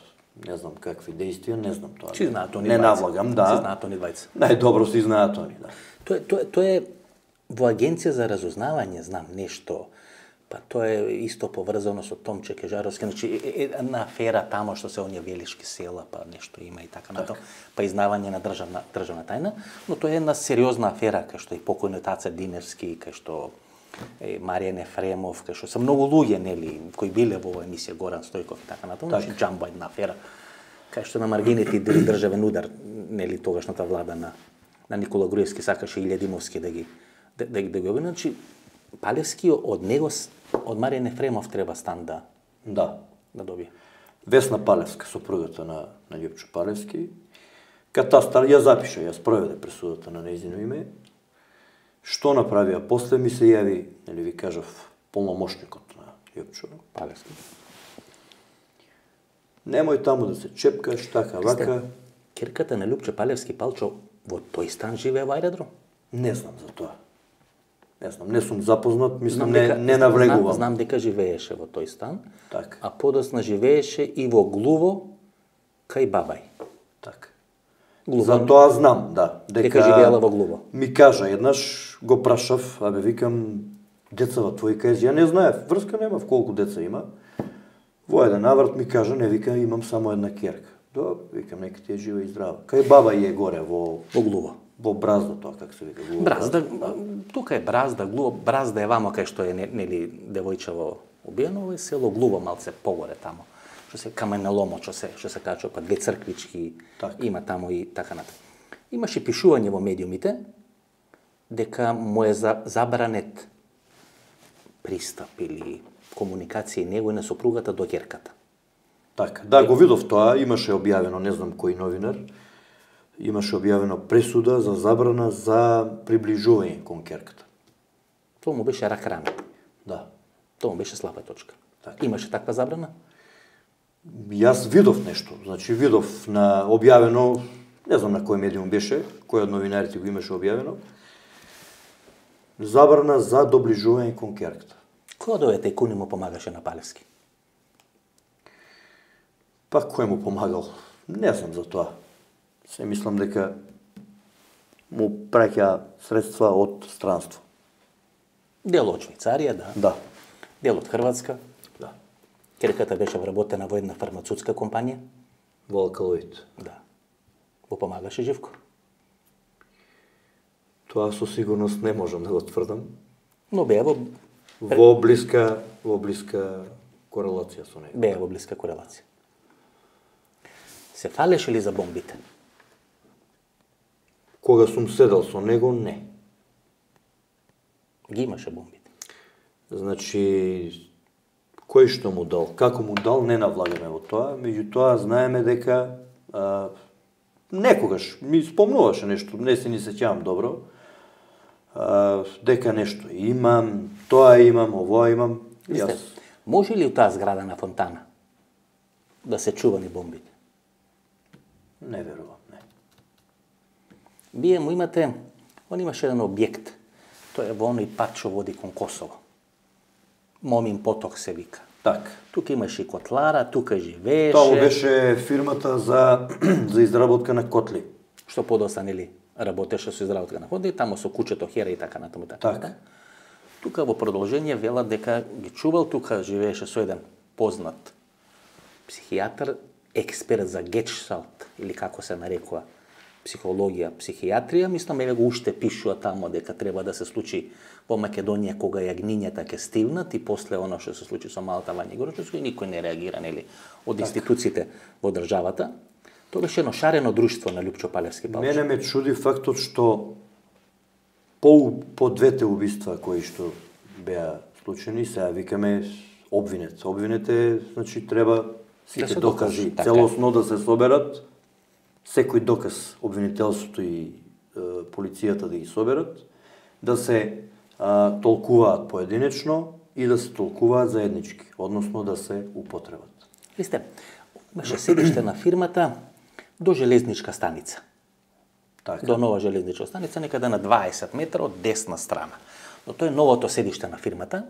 не знам какви действија, не знам тоа. Си знаат они не двајца. навлагам, да. Си знаат они двајца. Најдобро си знаат они, да. Тоа е во Агенција за разузнавање, знам нешто, па тоа е исто поврзано со Томче Кежаровски, значи една афера тамо што се оние велишки села, па нешто има и така натаму, па изнавање на државна тајна, но тоа е една сериозна афера кај што и покојниот Аца Диневски, кај што Маријан Ефремов, кај што се многу луѓе, нели, кои биле во оваа емисија, Горан Стојков и така натаму, значи џамба една афера, кај што на маргините и државен удар, нели, тогашната влада на Никола Груевски сакаше и Илјадимовски да ги обвини, значи Палевски од него, од Маријан Ефремов треба стан да добие. Весна Палевска, сопругата на Љупчо Палевски, катастар ја запиша, ја спроведе пресудата на нејзино име. Што направија после, ми се јави, нели ви кажав, полномошникот на Љупчо Палевски. Немој таму да се чепкаш, така, вака. Ќерката на Љупчо Палевски Палчо во тој стан живее во аеродром? Не знам за тоа. Не знам, не сум запознат, мислам, не навлегувам. Знам дека живееше во тој стан, Так. а подосна живееше и во Глуво, кај Бабај. Так. Глуво, За тоа знам, да. дека живеела во Глуво. Ми кажа еднаш, го прашав, викам, децава твои кажи, ја не знаев, врска немав колку деца има. Во еден наврат ми кажа, не, вика, имам само една ќерка. Да, викам, нека ти е жива и здрава. Кај Бабај е горе, во Глуво. Во Бразда, тоа как се вика, Глуво. Бразда, тука е Бразда, Глуво, Бразда е вамо кај што е, нели, девојчево убиено, ово е село Глуво, малце погоре тамо. Што се каменеломо, што се качува, па две црквички има тамо и така натаму. Имаше пишување во медиумите дека му е забранет пристап или комуникација и него и на сопругата до ќерката. Така, да, го видов тоа, имаше објавено, не знам кој новинар, имаше објавено пресуда за забрана за приближување кон ќерката. Тоа му беше рак рана. Да. Тоа му беше слаба точка. Така. Имаше таква забрана? Јас видов нешто, значи видов на објавено, не знам на кој медиум беше, кој од новинарите го имаше објавено, забрана за доближување кон ќерката. Кој од овие тајкуни му помагаше на Палевски? Па кој му помагал? Не знам за тоа. Се мислам дека му праќа средства од странство. Дел од Швајцарија, да. Да. Дел од Хрватска. Да. Ќерката беше вработена во една фармацутска компанија. Во Алкалоид. Да. Му помагаше Живко? Тоа со сигурност не можам да го тврдам. Но беа во блиска корелација со него. Беа во блиска корелација. Се фалеше ли за бомбите? Кога сум седел со него, не. Ги имаше бомбите. Значи, кој што му дал, како му дал, не навлагаме во тоа, меѓутоа знаеме дека некогаш ми спомнуваше нешто, не се ни сеќавам добро, дека нешто имам, тоа имам, овоа имам. Висте, може ли у таа зграда на Фонтана да се чувани бомбите? Не верувам, не. Вие му имате, он имаше еден објект, тоа е во оној пат што води кон Косово. Момин поток се вика. Так. Тука имаше и котлара, тука живееше. Тоа беше фирмата за изработка на котли. Што подоста, нели, работеше со изработка на котли, тамо со кучето Хера и така натаму. Така. Тука во продолжение велат дека ги чувал, тука живееше со еден познат психијатар, експерт за гешталт, или како се нарекува, психологија, психијатрија, мислам, еве го уште пишува тамо дека треба да се случи во Македонија кога јагнињата ќе стивнат и после оно што се случи со Малта Вања Горчевска и никој не реагира, нели, од институциите во државата. Тоа беше едно шарено друштво на Љупчо Палевски Палчо. Мене ме чуди фактот што по двете убиства кои што беа случени, сега викаме обвинет. Обвинет е, значи, треба сите докази целосно да се соберат, секој доказ обвинителството и полицијата да ги соберат, да се толкуваат поединечно и да се толкуваат заеднички, односно да се употребат. Висте, беше седиште на фирмата до железничка станица. Така. До нова железничка станица, некаде на 20 метра од десна страна. Но тоа е новото седиште на фирмата.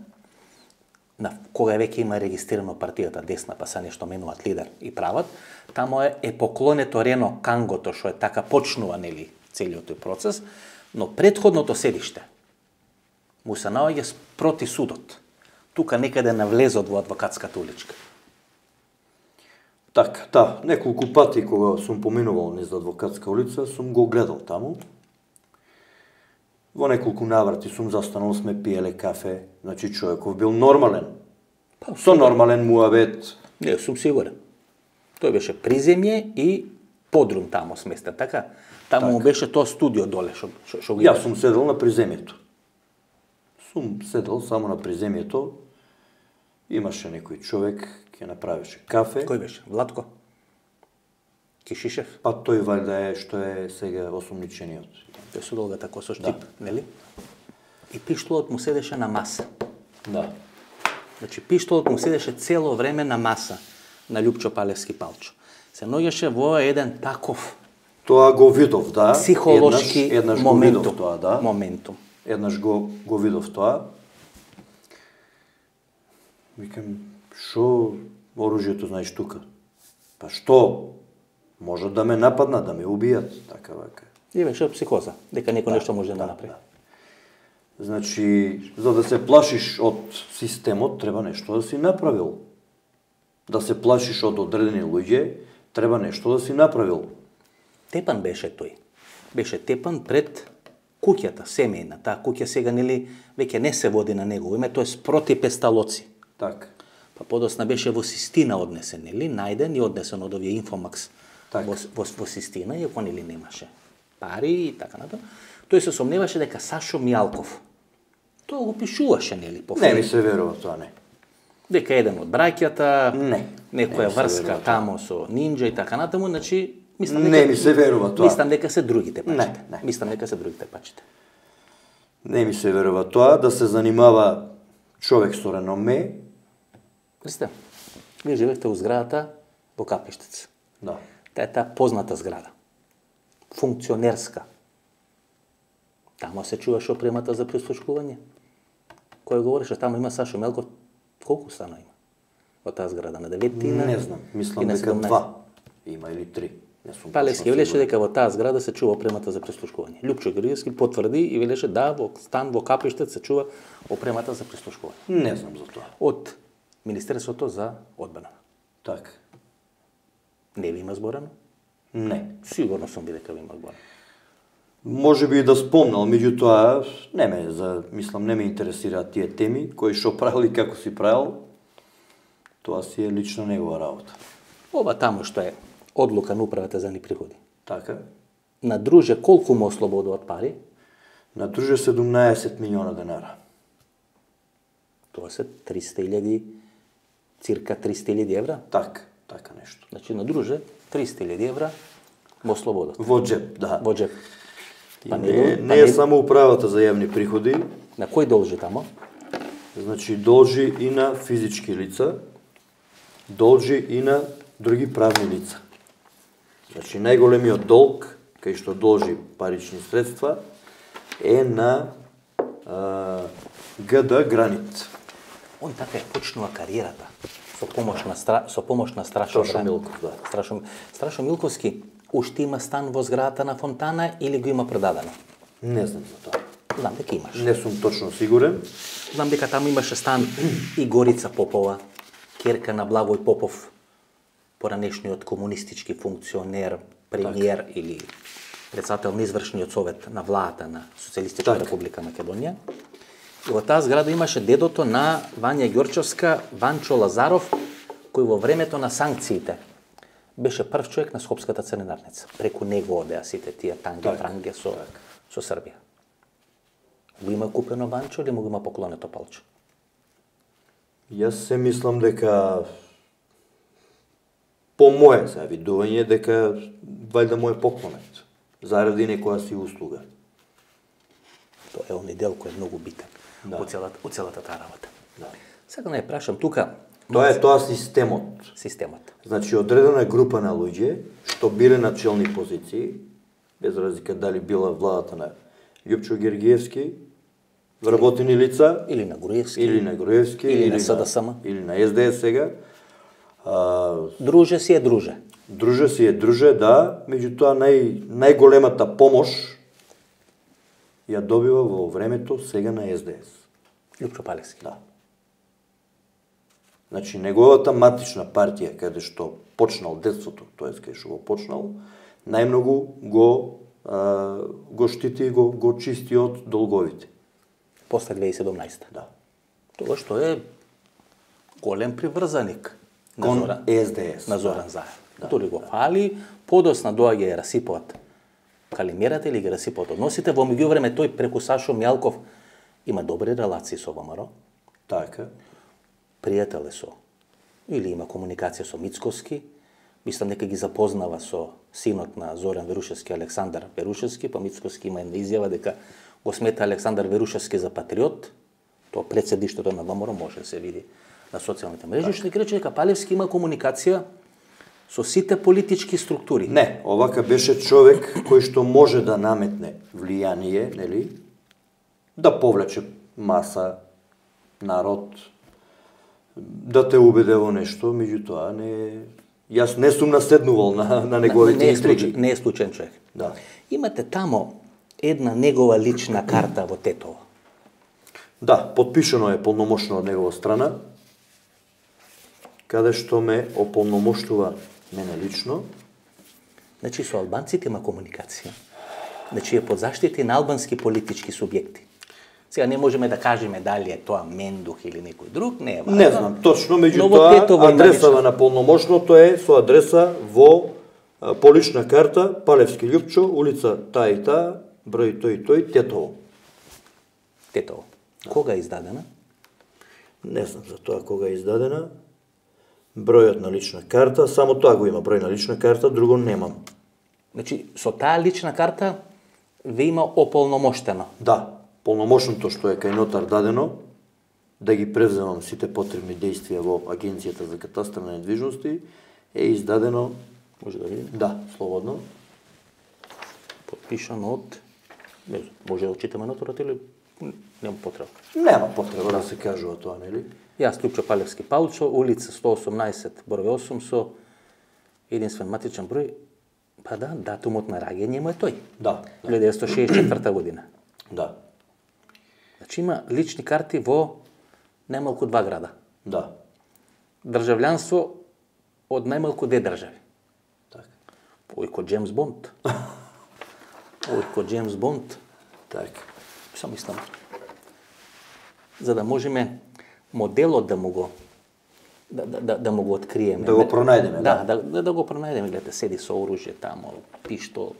кога веќе има регистрирано партијата десна, па са нешто менуваат лидер и прават, тамо е поклонето Рено Кангото, што е така почнува, нели, целиот тој процес, но претходното седиште му се наоѓа спроти судот. Тука некаде на влезот во адвокатската уличка. Така, да, неколку пати кога сум поминувал низ адвокатска улица, сум го гледал таму. Во неколку наврати сум застанал, сме пиеле кафе, значи човеков бил нормален. Со нормален муабет. Не, сум сигурен. Тој беше приземје и подрум тамо сместен, така? Таму беше тоа студио доле, што го Јас сум седел на приземјето. Сум седел само на приземјето. Имаше некој човек, ќе направеше кафе. Кој беше? Владко? Кишишев? Па тој валјда е што е сега осумничениот. Тој со долгата коса штип, нели? И пиштолот му седеше на маса. Да. Значи пиштолот му седеше цело време на маса на Љупчо Палевски Палчо. Се наоѓаше во еден таков Тоа го видов, да. психолошки еднаш моментум. го видов тоа, да. Моментум. Еднаш го видов тоа. Викам, шо оружјето знаеш тука? Па што? Можат да ме нападнат, да ме убијат, така вака. И беше психоза, дека некој нешто може да направи. Значи, за да се плашиш од системот, треба нешто да си направил. Да се плашиш од одредени луѓе, треба нешто да си направил. Тепан беше тој. Беше тепан пред куќата, семејна. Таа куќа сега, нели, веќе не се води на негово име, тоа е спроти Песталоци. Така. Па подосна беше во Систина однесен, нели, најден и однесен од овие Инфомакс во Систина, иако нели немаше пари и така натаму. Тој се сомневаше дека Сашо Мијалков, тоа го пишуваше, нели, по Не ми се верува тоа, не. дека еден од браќата, некоја не се врска верува тамо со нинџа и така натаму, значи мислам Не ми се верува тоа. Мислам дека се другите пачите. Не. Мислам дека се другите пачите. Не ми се верува тоа да се занимава човек со реноме. Присте, вие живеете у зградата во Капиштец. Да. Таа е таа позната зграда. Функционерска. Тамо се чуваше опремата за прислушкување. Кој говореше, тамо има Сашо Мелков. Колку стана има? Во таа зграда на 9 и на... Не знам, мислам и на дека 17. 2 има или 3. Не сум Палевски точно велеше сигурен. дека во таа зграда се чува опремата за прислушкување. Љупчо Георгиевски потврди и велеше да, во стан во Капиштец се чува опремата за прислушкување. Не знам за тоа. Од Министерството за одбрана. Така. Не ви има зборено? Не. Сигурно сум би дека ви има зборено. Може би и да спомнал, меѓутоа мислам не ме интересираат тие теми, кој што правил и како си правил. Тоа си е лично негова работа. Ова тамо што е одлука на управата за ни приходи. Така. На друже колку му ослободуват пари? На друже 17 милиона денара. Тоа се 300.000, цирка 300.000 евра. Така нешто. Значи на друже 300.000 евра му ослободат. Во джеп, да. Во джеп. И не е само управата за јавни приходи, На кој должи тамо? значи должи и на физички лица, должи и на други правни лица. Значи најголемиот долг, кај што должи парични средства, е на ГД Гранит. Он така е почнува кариерата со помош на Страшо Страшо Милков, да. Страшо Милковски уште има стан во зградата на Фонтана или го има продадено? Не знам за тоа. Знам дека имаш. Не сум точно сигурен. Знам дека таму имаше стан и Горица Попова, керка на Благој Попов, поранешниот комунистички функционер, премиер или председател на извршниот совет на владата на Социјалистичка република Македонија. И во таа зграда имаше дедото на Вања Ѓорчевска, Ванчо Лазаров, кој во времето на санкциите беше прв човек на Скопската царинарница. Преку него одеа сите тие танге со Србија. Го има купено Ванчо или му го има поклонето Палчо? Јас се мислам дека по моje завидување дека вајда му е поклонет заради некоја си услуга. Тоа е оној дел кој е многу битен у целата таа работа. Да. Сега не прашам тука Тоа е тоа системот. системот. Значи одредена група на луѓе што биле на челни позиции, без разлика дали била владата на Љупчо Георгиевски вработени лица, или на Груевски, или на Груевски, или на СДСМ, или на СДС сега. Друже си е друже. Друже си е друже, да, меѓутоа најголемата помош ја добива во времето сега на СДС. Лјупчо Палевски. Да. Значи, неговата матична партија, каде што почнал детството, тоест каде што го почнал, најмногу го штити и го чисти од долговите. После 2017. Да. Тоа што е голем приврзаник Кон СДС. на Зоран Заев. Толи го фали, подосна доаѓа и расипаат калимерата или ги расипаат односите. Во меѓувреме тој преку Сашо Мјалков има добри релации со ВМРО. Така. Пријател е со, или има комуникација со Мицковски, мислам дека ги запознава со синот на Зоран Верушевски, Александар Верушевски, па Мицковски има една изјава дека го смета Александар Верушевски за патриот, тоа пред седиштето на ВМРО може да се види на социјалните мрежи, што ќе рече дека Палевски има комуникација со сите политички структури. Не, овака беше човек кој што може да наметне влијание, нели? Да повлече маса, народ, да те убеде во нешто, меѓутоа јас не сум наседнувал на неговите интриги. Не е случаен човек. Да. Имате тамо една негова лична карта во Тетово. Да, подпишано е полномошно од негова страна, каде што ме ополномоштува мене лично. Значи, со албанците има комуникација. Значи, е под заштити на албански политички субјекти. Сега не можеме да кажеме дали е тоа Мендух или некој друг, не е важно. Не знам точно, меѓутоа адресава на полномошното е со адреса во по лична карта Палевски Лјупчо, улица таа и таа, број тој и тој, Тетово. Тетово. Кога е издадена? Не знам за тоа кога е издадена. Бројот на лична карта, само тоа го има број на лична карта, друго немам. Значи, со таа лична карта ве има ополномоштено. Да, полномошното што е кај нотар дадено, да ги превземам сите потребни действија во Агенцијата за катастар на недвижности, е издадено, може да видиме? Да, слободно. Подпишано од, не знам, може да читаме нотарот или нема потреба? Нема потреба да се кажува тоа, нели? Јас Лјупчо Палевски Палчо, улица 118, број 8 со единствен матичен број. Па да, датумот на раѓање му е тој. Да. 1964 година. Да. Значи има лични карти во најмалку 2 града. Да. Држављанство од најмалку 2 држави. Така. Ој ко Джеймс Бонд. Ој ко Джеймс Бонд. Така. Само мислам. За да можеме моделот да му го да му го откриеме. Да го пронајдеме, да. Да го пронајдеме, гледате, седи со оружје тамо, пиштол.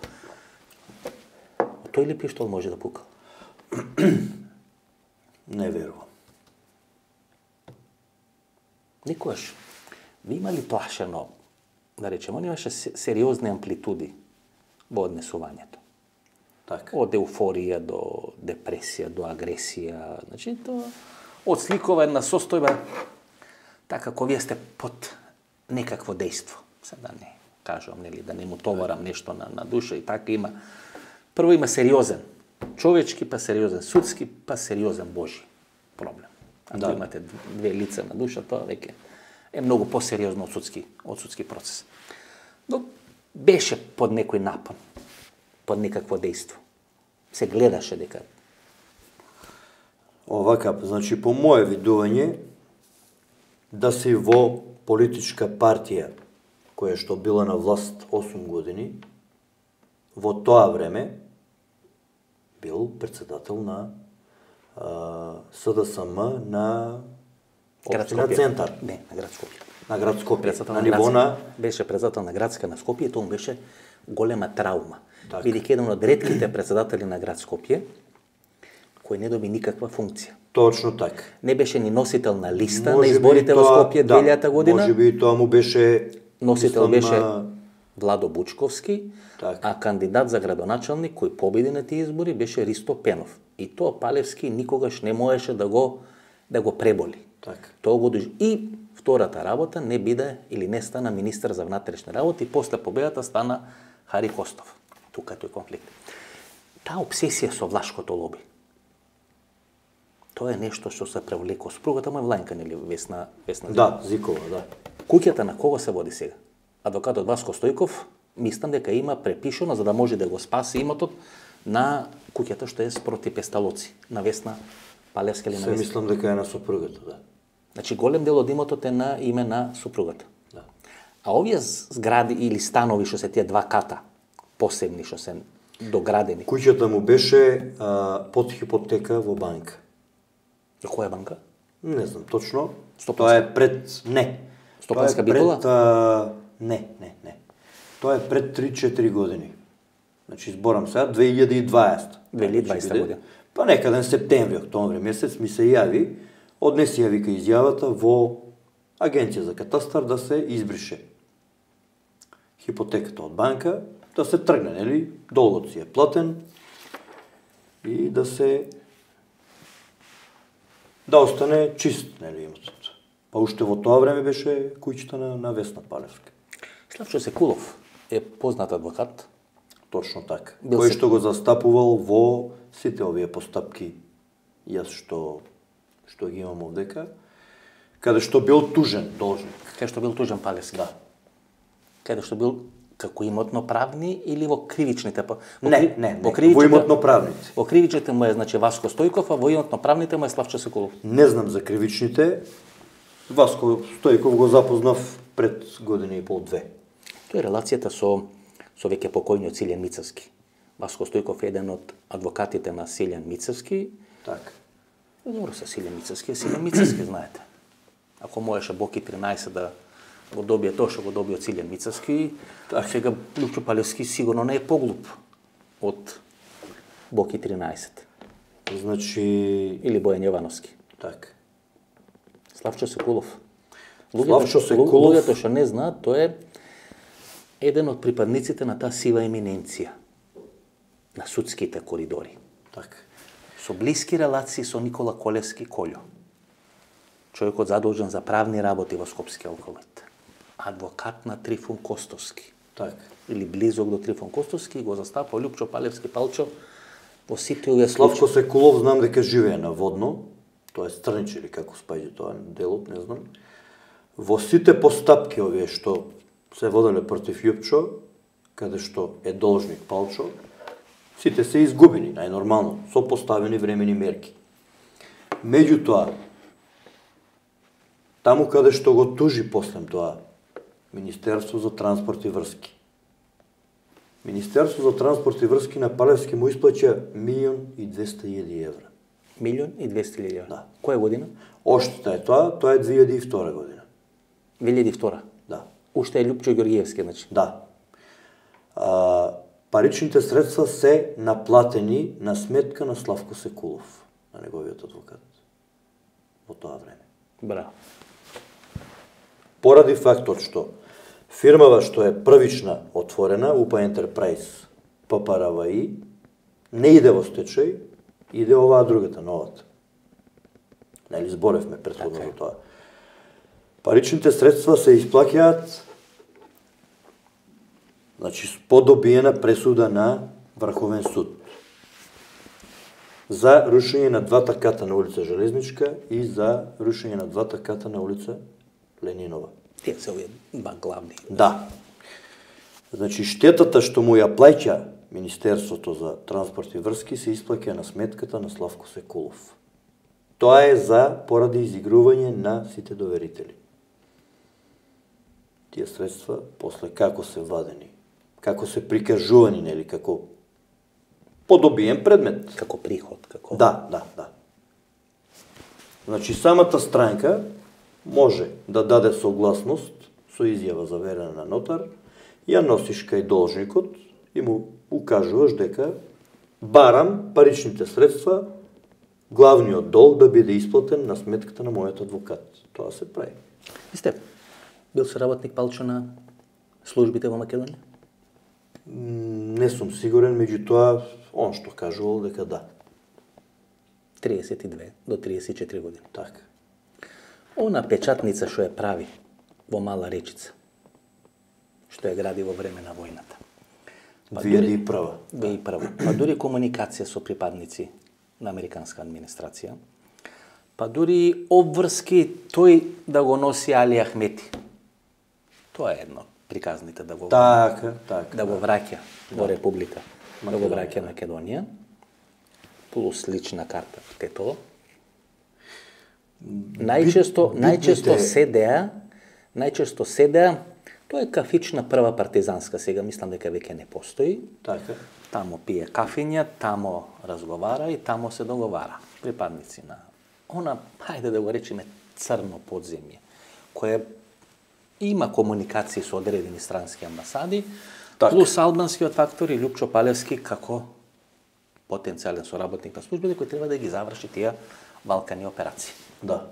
Тој ли пиштол може да пука? Не верувам. Никогаш. Ви имали плашено, да речеме, он имаше сериозни амплитуди во однесувањето. Така. Од еуфорија до депресија, до агресија. Значи, тоа одсликува една состојба така како вие сте под некакво дејство. Сега да не кажувам, нели, да не му товарам нешто на душа и така има. Прво има сериозен човечки, па сериозен судски, па сериозен Божи проблем. Ако имате две лица на душа, тоа веќе е многу посериозно од судски процес. Но беше под некој напон, под некакво дејство. Се гледаше дека овака, значи по мое видување, да си во политичка партија која што била на власт 8 години, во тоа време бил председател на СДСМ на општина Центар. Не, на град Скопје. На град Скопје. На ниво на... Беше председател на градска на Скопје и тоа беше голема траума. Бидејќи еден од ретките председатели на град Скопје кој не доби никаква функција. Точно така. Не беше ни носител на листа на изборите во Скопје 2000 година. Може би тоа му беше носител беше Владо Бучковски, так. А кандидат за градоначалник кој победи на тие избори беше Ристо Пенов. И тоа Палевски никогаш не можеше да го преболи. Так. Тоа го и втората работа не биде или не стана министар за внатрешни работи, после победата стана Хари Костов. Тука тој конфликт. Таа обсесија со влашкото лоби. тоа е нешто што се превлеко. Спругата му е влајнка, нели, Весна Да, Зикова, да. Куќата на кого се води сега? Адвокатот Васко Стојков, мислам дека има препишано за да може да го спаси имотот на куќата што е спроти Песталоци, на Весна Палевска или на Се Весна. мислам дека е на сопругата, да. Значи голем дел од имотот е на име на супругата. Да. А овие згради или станови што се тие два ката, посебни што се доградени. Куќата му беше под хипотека во банка. Која банка? Не знам точно. Стопанска? Тоа е пред... Не. Стопанска Тоа е битола? Не. Тоа е пред 3-4 години. Значи, зборам сега, 2020. 2020 година. Па некаден септември, октомври месец ми се јави, однеси ја вика изјавата во Агенција за катастар да се избрише хипотеката од банка, да се тргне, нели, долгот си е платен и да остане чист, нели, имотот. Па уште во тоа време беше куќата на Весна Палевска. Славчо Секулов е познат адвокат. Точно така. Бил Кој се- што го застапувал во сите овие постапки, јас што ги имам овдека, каде што бил тужен должник. Кај што бил тужен Палевски. Да. Каде што бил како имотно-правни или во кривичните? Не, Во во кривичните, имотно-правните. во кривичните му е, значи, Васко Стојков, а во имотно-правните му е Славчо Секулов. Не знам за кривичните. Васко Стојков го запознав пред година и пол-две. Тоа е релацијата со веќе покојниот Силјан Мицевски. Васко Стојков е еден од адвокатите на Силјан Мицевски. Така. Добро со Силјан Мицевски, Силјан Мицевски, знаете. Ако можеше Боки 13 да го добие тоа што го добие од Силјан Мицевски, сега Лупчо Палевски сигурно не е поглуп од Боки 13 Значи, или Бојан Јовановски. така. Славчо Секулов. Славчо Секулов- Луѓето што не знаат, тој е еден од припадниците на таа сива еминенција на судските коридори. Така. Со блиски релации со Никола Колевски Колјо. Човекот задолжен за правни работи во Скопски алкалоид. Адвокат на Трифун Костовски. Така. Или близок до Трифун Костовски, го застапа Лупчо Палевски Палчо во сите овие Славко случаи. Секулов знам дека живее на Водно, тоа е Странич или како спаѓа тоа делот, не знам. Во сите постапки овие што се воделе против Јупчо, каде што е должник Палчо, сите се изгубени, најнормално, со поставени времени мерки. Меѓутоа, таму каде што го тужи после тоа, Министерство за транспорт и врски. Министерство за транспорт и врски на Палевски му исплаќа 1.200.000 евра. 1.200.000 евра. Да. Која година? Оштета е тоа е 2002 година. 2002. Да. Уште е Лупчо Ѓорѓиевски, значи. Да. Паричните средства се наплатени на сметка на Славко Секулов, на неговиот адвокат, во тоа време. Браво. Поради фактот што фирмава што е првична отворена, УПА Ентерпрајз ППРВИ, не иде во стечај, иде оваа другата, новата. Нели зборевме претходно Така е. за тоа. Паричните средства се исплаќаат, значи, по добиена пресуда на Врховен суд за рушење на двата ката на улица Железничка и за рушење на двата ката на улица Ленинова. Тие се овие два главни. Да. Значи, штетата што му ја плаќа Министерството за транспорт и врски се исплаќа на сметката на Славко Секулов. Тоа е поради изигрување на сите доверители. Тие средства, после како се вадени, како се прикажувани, нели, како подобиен предмет. Како приход, како... Да. Значи, самата странка може да даде согласност со изјава заверена на нотар, ја носиш кај должникот и му укажуваш дека барам паричните средства, главниот долг да биде исплатен на сметката на мојот адвокат. Тоа се прави. Ви сте бил соработник Палчо на службите во Македонија? Не сум сигурен, меѓутоа, он што кажувал дека да. 32 до 34 години. Така. Она печатница што ја прави во Мала Речица, што ја гради во време на војната. 2001. 2001. Па дури комуникација со припадници на американска администрација, Па дури обврски тој да го носи Али Ахмети. Тоа е едно приказните да го Така. да го враќа во Република, да го враќа Македонија, плюс лична карта Тетово. Најчесто седеа, тоа е кафична прва партизанска, сега мислам дека веќе не постои. Така. Тамо пие кафиња, тамо разговара и тамо се договара. Припадници на она, хајде да го речеме, црно подземје, кое има комуникации со одредени странски амбасади, плюс албанскиот фактор и Лјупчо Палевски како потенцијален соработник на службите кој треба да ги заврши тие Балкани операции. Да.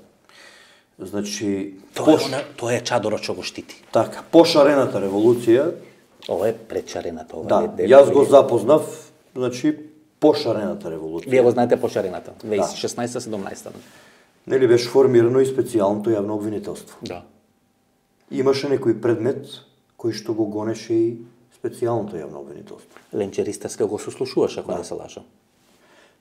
Значи, Тоа е чадорот што го штити. Така, пошарената револуција. Ова е предшарената. Да, јас го запознав, значи, пошарената револуција. Вие го знаете пошарената, 2016-17. Нели беше формирано и специјалното јавно обвинителство. Да. Имаше некој предмет кој што го гонеше и специјалното јавно обвинителство. Ленчеристеска го сослушуваше, ако не се лажам.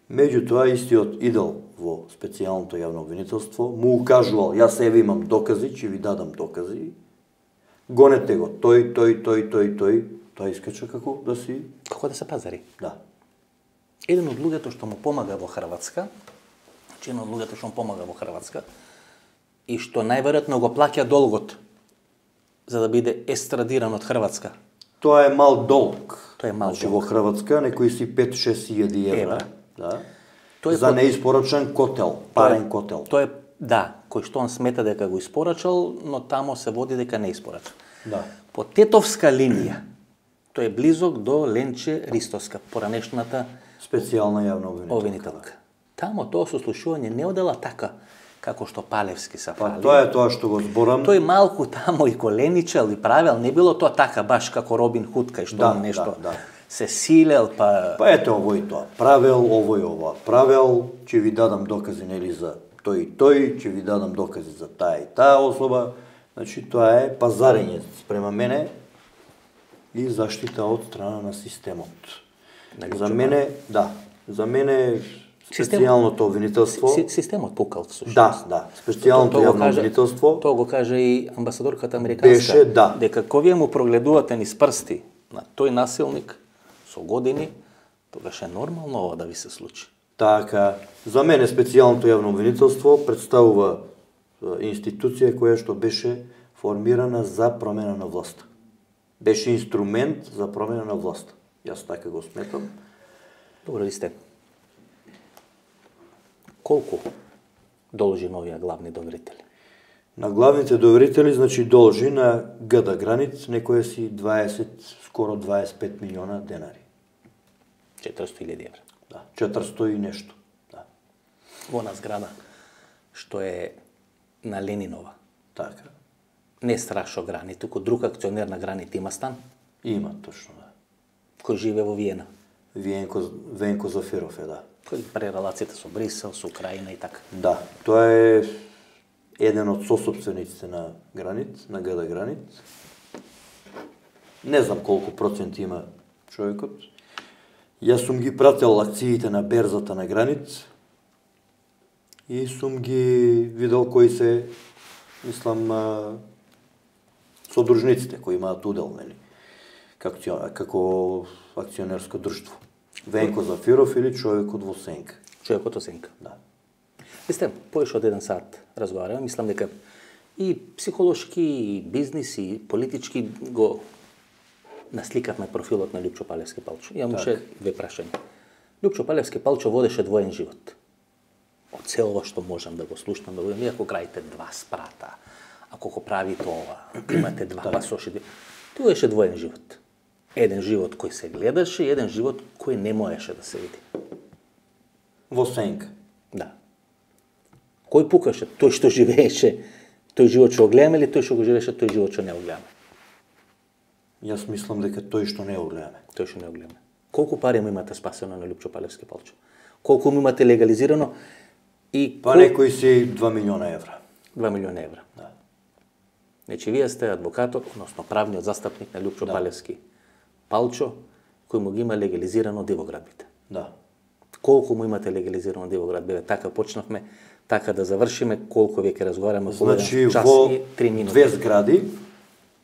Меѓутоа, истиот идол во специјалното јавно обвинителство му укажувал, јас еве имам докази, ќе ви дадам докази, гонете го, тој, тоа искача како да си... Како да се пазари. Да. Еден од луѓето што му помага во Хрватска, и што најверојатно го плаќа долгот за да биде естрадиран од Хрватска. Тоа е мал долг. Тоа е мал долг. долг. Во Хрватска некои си 5-6 илјади евра. Да. Тој за неиспорачен котел, парен котел. Тоа е, да, кој што он смета дека го испорачал, но тамо се води дека не испорачал. Да. По тетовска линија, тој е близок до Ленче Ристовска, поранешната специјална јавна обвинителка. Тамо тоа сослушување не одела така како што Палевски се фали. Па тоа е тоа што го зборам. Тој малку тамо и коленичел и правел, не било тоа така баш како Робин Худ, кај што нешто се силел, па... Па ете овој тоа правел, овој ова правел, ќе ви дадам докази нели за тој и тој, ќе ви дадам докази за таа и таа особа. Значи тоа е пазарење спрема мене и заштита од страна на системот. За мене, да, за мене специјалното обвинителство... Системот пукал, всушност. Да, специјалното јавно обвинителство... Тоа го кажа и амбасадорката американска. Беше, да. Дека кога вие му прогледувате низ прсти на тој насилник со години, тогаш е нормално ова да ви се случи. Така, за мене специјалното јавно обвинителство представува институција која што беше формирана за промена на власта. Беше инструмент за промена на власта. Јас така го сметам. Добро ли сте? Колку должи новија главни доверители? На главните доверители, значи, должи на ГД Границ некоја си 20, скоро 25 милиона денари. 400.000 евра. Да, 400 и нешто. Да. Во на зграда, што е на Ленинова. Така. Не Страшо Грани, туку друг акционер на Гранит има стан. Има, точно, да. Кој живе во Виена. Венко Зафиров е, да. Кој прави релациите со Брисел, со Украина и така. Да, тоа е еден од сосопствениците на Гранит, на ГД Гранит. Не знам колку проценти има човекот. Јас сум ги прател акциите на берзата на Гранит и сум ги видел кои се, мислам, содружниците кои имаат удел, нели, како акционерско друштво. Венко Зафиров или човекот во Сенка. Човекот во Сенка. Да. Висте, повеќе од 1 сат разговараме, мислам дека и психолошки, и бизнис, и политички го насликавме профилот на Лјупчо Палевски Палчо. Имаше две прашања. Лјупчо Палевски Палчо водеше двоен живот. Од се ова што можам да го слушнам, да го имам, ако крајте 2 спрата, ако го правите ова, имате 2 пасоши, тоа беше двоен живот. Еден живот кој се гледаше и еден живот кој не можеше да се види. Во Сенка. Да. Кој пукаше? Тој што живееше, тој живот што го гледаме или тој што го живееше, тој живот што не го гледаме? Јас мислам дека тој што не го гледаме. Тој што не го гледаме. Колку пари му имате спасено на Лјупчо Палевски Палчо? Колку му имате легализирано? И па некои си 2 милиона евра. 2 милиона евра. Да. Значи, вие сте адвокатот, односно правниот застапник на Лјупчо Палевски Палчо, кој му ги има легализирано дивоградбите. Да. Колку му имате легализирано дивоградбите? Така почнавме така да завршиме, колку веќе разговараме, Значи, час во и 3 минути. две згради,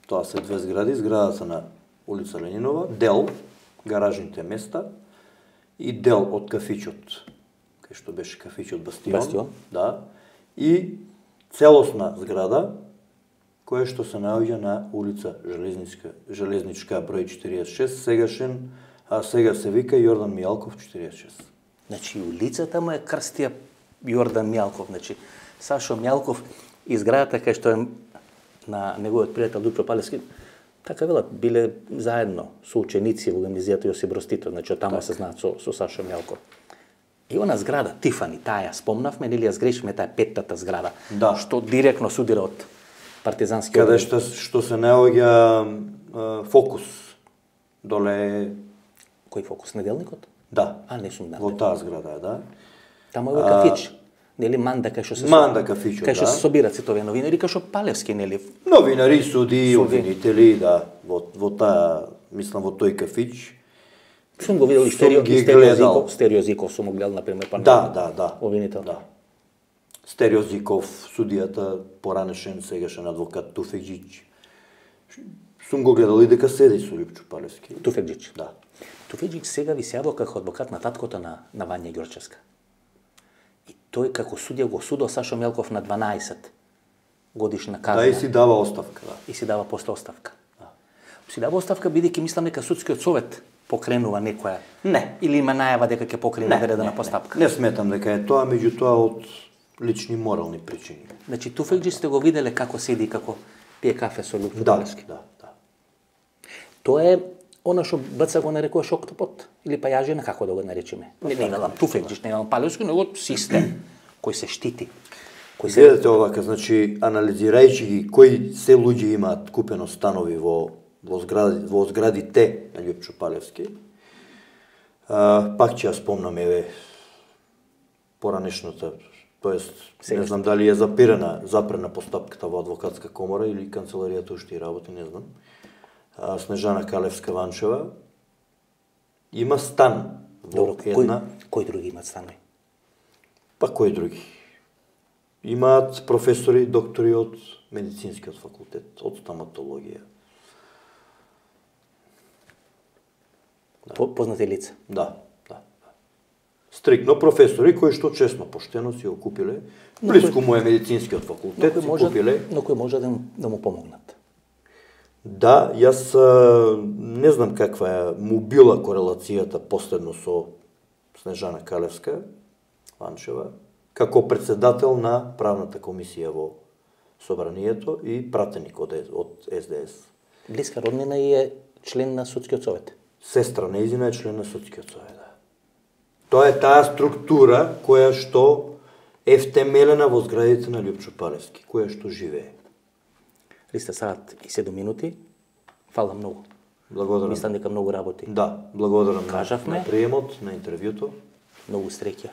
тоа се две згради, зградата на улица Ленинова, дел, гаражните места и дел од кафичот, кај што беше кафичот Бастион. Да. И целосна зграда, која што се наоѓа на улица Железничка број 46, сега се вика Јордан Мијалков 46. Значи, улицата му е крстија Јордан Мијалков. Значи, Сашо Мијалков и зградата кај што е на неговиот пријател Лјупчо Палевски, така велат, биле заедно со ученици во гимназијата Јосип Брз Тито, значи од тама се знаат со Сашо Мијалков. И она зграда, Тифани, таа ја спомнавме, нели ја сгрешиме, таа петтата зграда, Да. што директно судира од партизански Каде што се наоѓа Фокус, доле... Кој Фокус, Неделникот? Да, А, не сум во таа зграда е, да. Тама е кафич. Нели Манда кај што се Манда кафичот, кај што да. се собираат сите овие новинари, кај што Палевски, нели? Новинари, суди, обвинители, да, во таа, мислам, во тој кафич. Сум го видел и Сум ги гледал. Стереозиков сум го гледал, например, па Да. обвинител. Да. Стереозиков, судијата, поранешен, сегашен адвокат Туфеджич. Сум го гледал и дека седи со Лјупчо Палевски. Туфеджич. Да. Туфеджич сега ви се јавил како адвокат на таткото на Вања Ѓорчевска. И тој како судија го судил Сашо Мијалков на 12 годишна казна. Да, и си дава оставка, да. И си дава после оставка. Си дава оставка бидејќи мислам дека судскиот совет покренува некоја. Не. Или има најава дека ќе покрене ведена постапка. Не сметам дека е тоа, меѓутоа од лични морални причини. Значи Туфеджич сте го виделе како седи и како пие кафе со Лјупчо Палевски. Да. Тоа е она што Баца го нарекуваш октопот или пајажина, како да го наречеме. Не велам Туфеджич, не велам Палевски, него систем кој се штити. Гледате овака, значи анализирајќи ги кои се луѓе имаат купено станови во зградите на Лјупчо Палевски, пак ќе ја спомнам, еве, поранешната, тоест, не знам дали е запрена постапката во адвокатска комора или канцеларијата уште и работи, не знам. Снежана Калевска-Ванчева има стан во една... Кои други имаат станови? Па кои други? Имаат професори, доктори од медицинскиот факултет, од стоматологија. Познати лица? Да. Стрикно професори кои што честно, поштено си го купиле, близко му е медицинскиот факултет, си купиле. Но кои може да му помогнат? Да, јас не знам каква е му била корелацијата последно со Снежана Калевска Ванчева, како председател на правната комисија во Собранието и пратеник од СДС. Блиска роднина и е член на судскиот совет. Сестра нејзина е член на судскиот совет, да. Тоа е таа структура која што е втемелена во зградите на Лјупчо Палевски, која што живее. Ристе, саат и 7 минути. Фала многу. Благодарам. Мислам дека многу работи. Да, благодарам Кажавме. на приемот, на интервјуто. Многу среќа.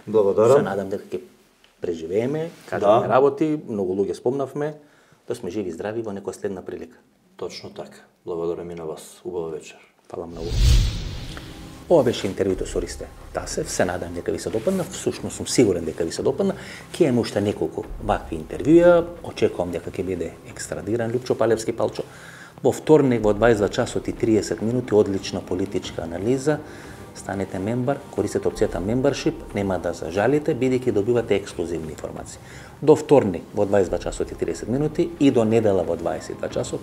Благодарам. Се надам дека ќе преживееме, кажавме работи, многу луѓе спомнавме, да сме живи и здрави во некоја следна прилика. Точно така. Благодарам и на вас. Убава вечер. Фала многу. Ова беше интервјуто со Ристе Тасев. Се надам дека ви се допадна, всушност сум сигурен дека ви се допадна. Ќе имаме уште неколку вакви интервјуа. Очекувам дека ќе биде екстрадиран Лјупчо Палевски Палчо. Во вторник во 22 часот и 30 минути одлична политичка анализа. Станете мембар, користете опцијата membership, нема да зажалите, бидејќи добивате ексклузивни информации. До вторник во 22 часот и 30 минути и до недела во 22 часот.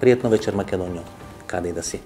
Пријатно вечер, Македонија, каде и да си.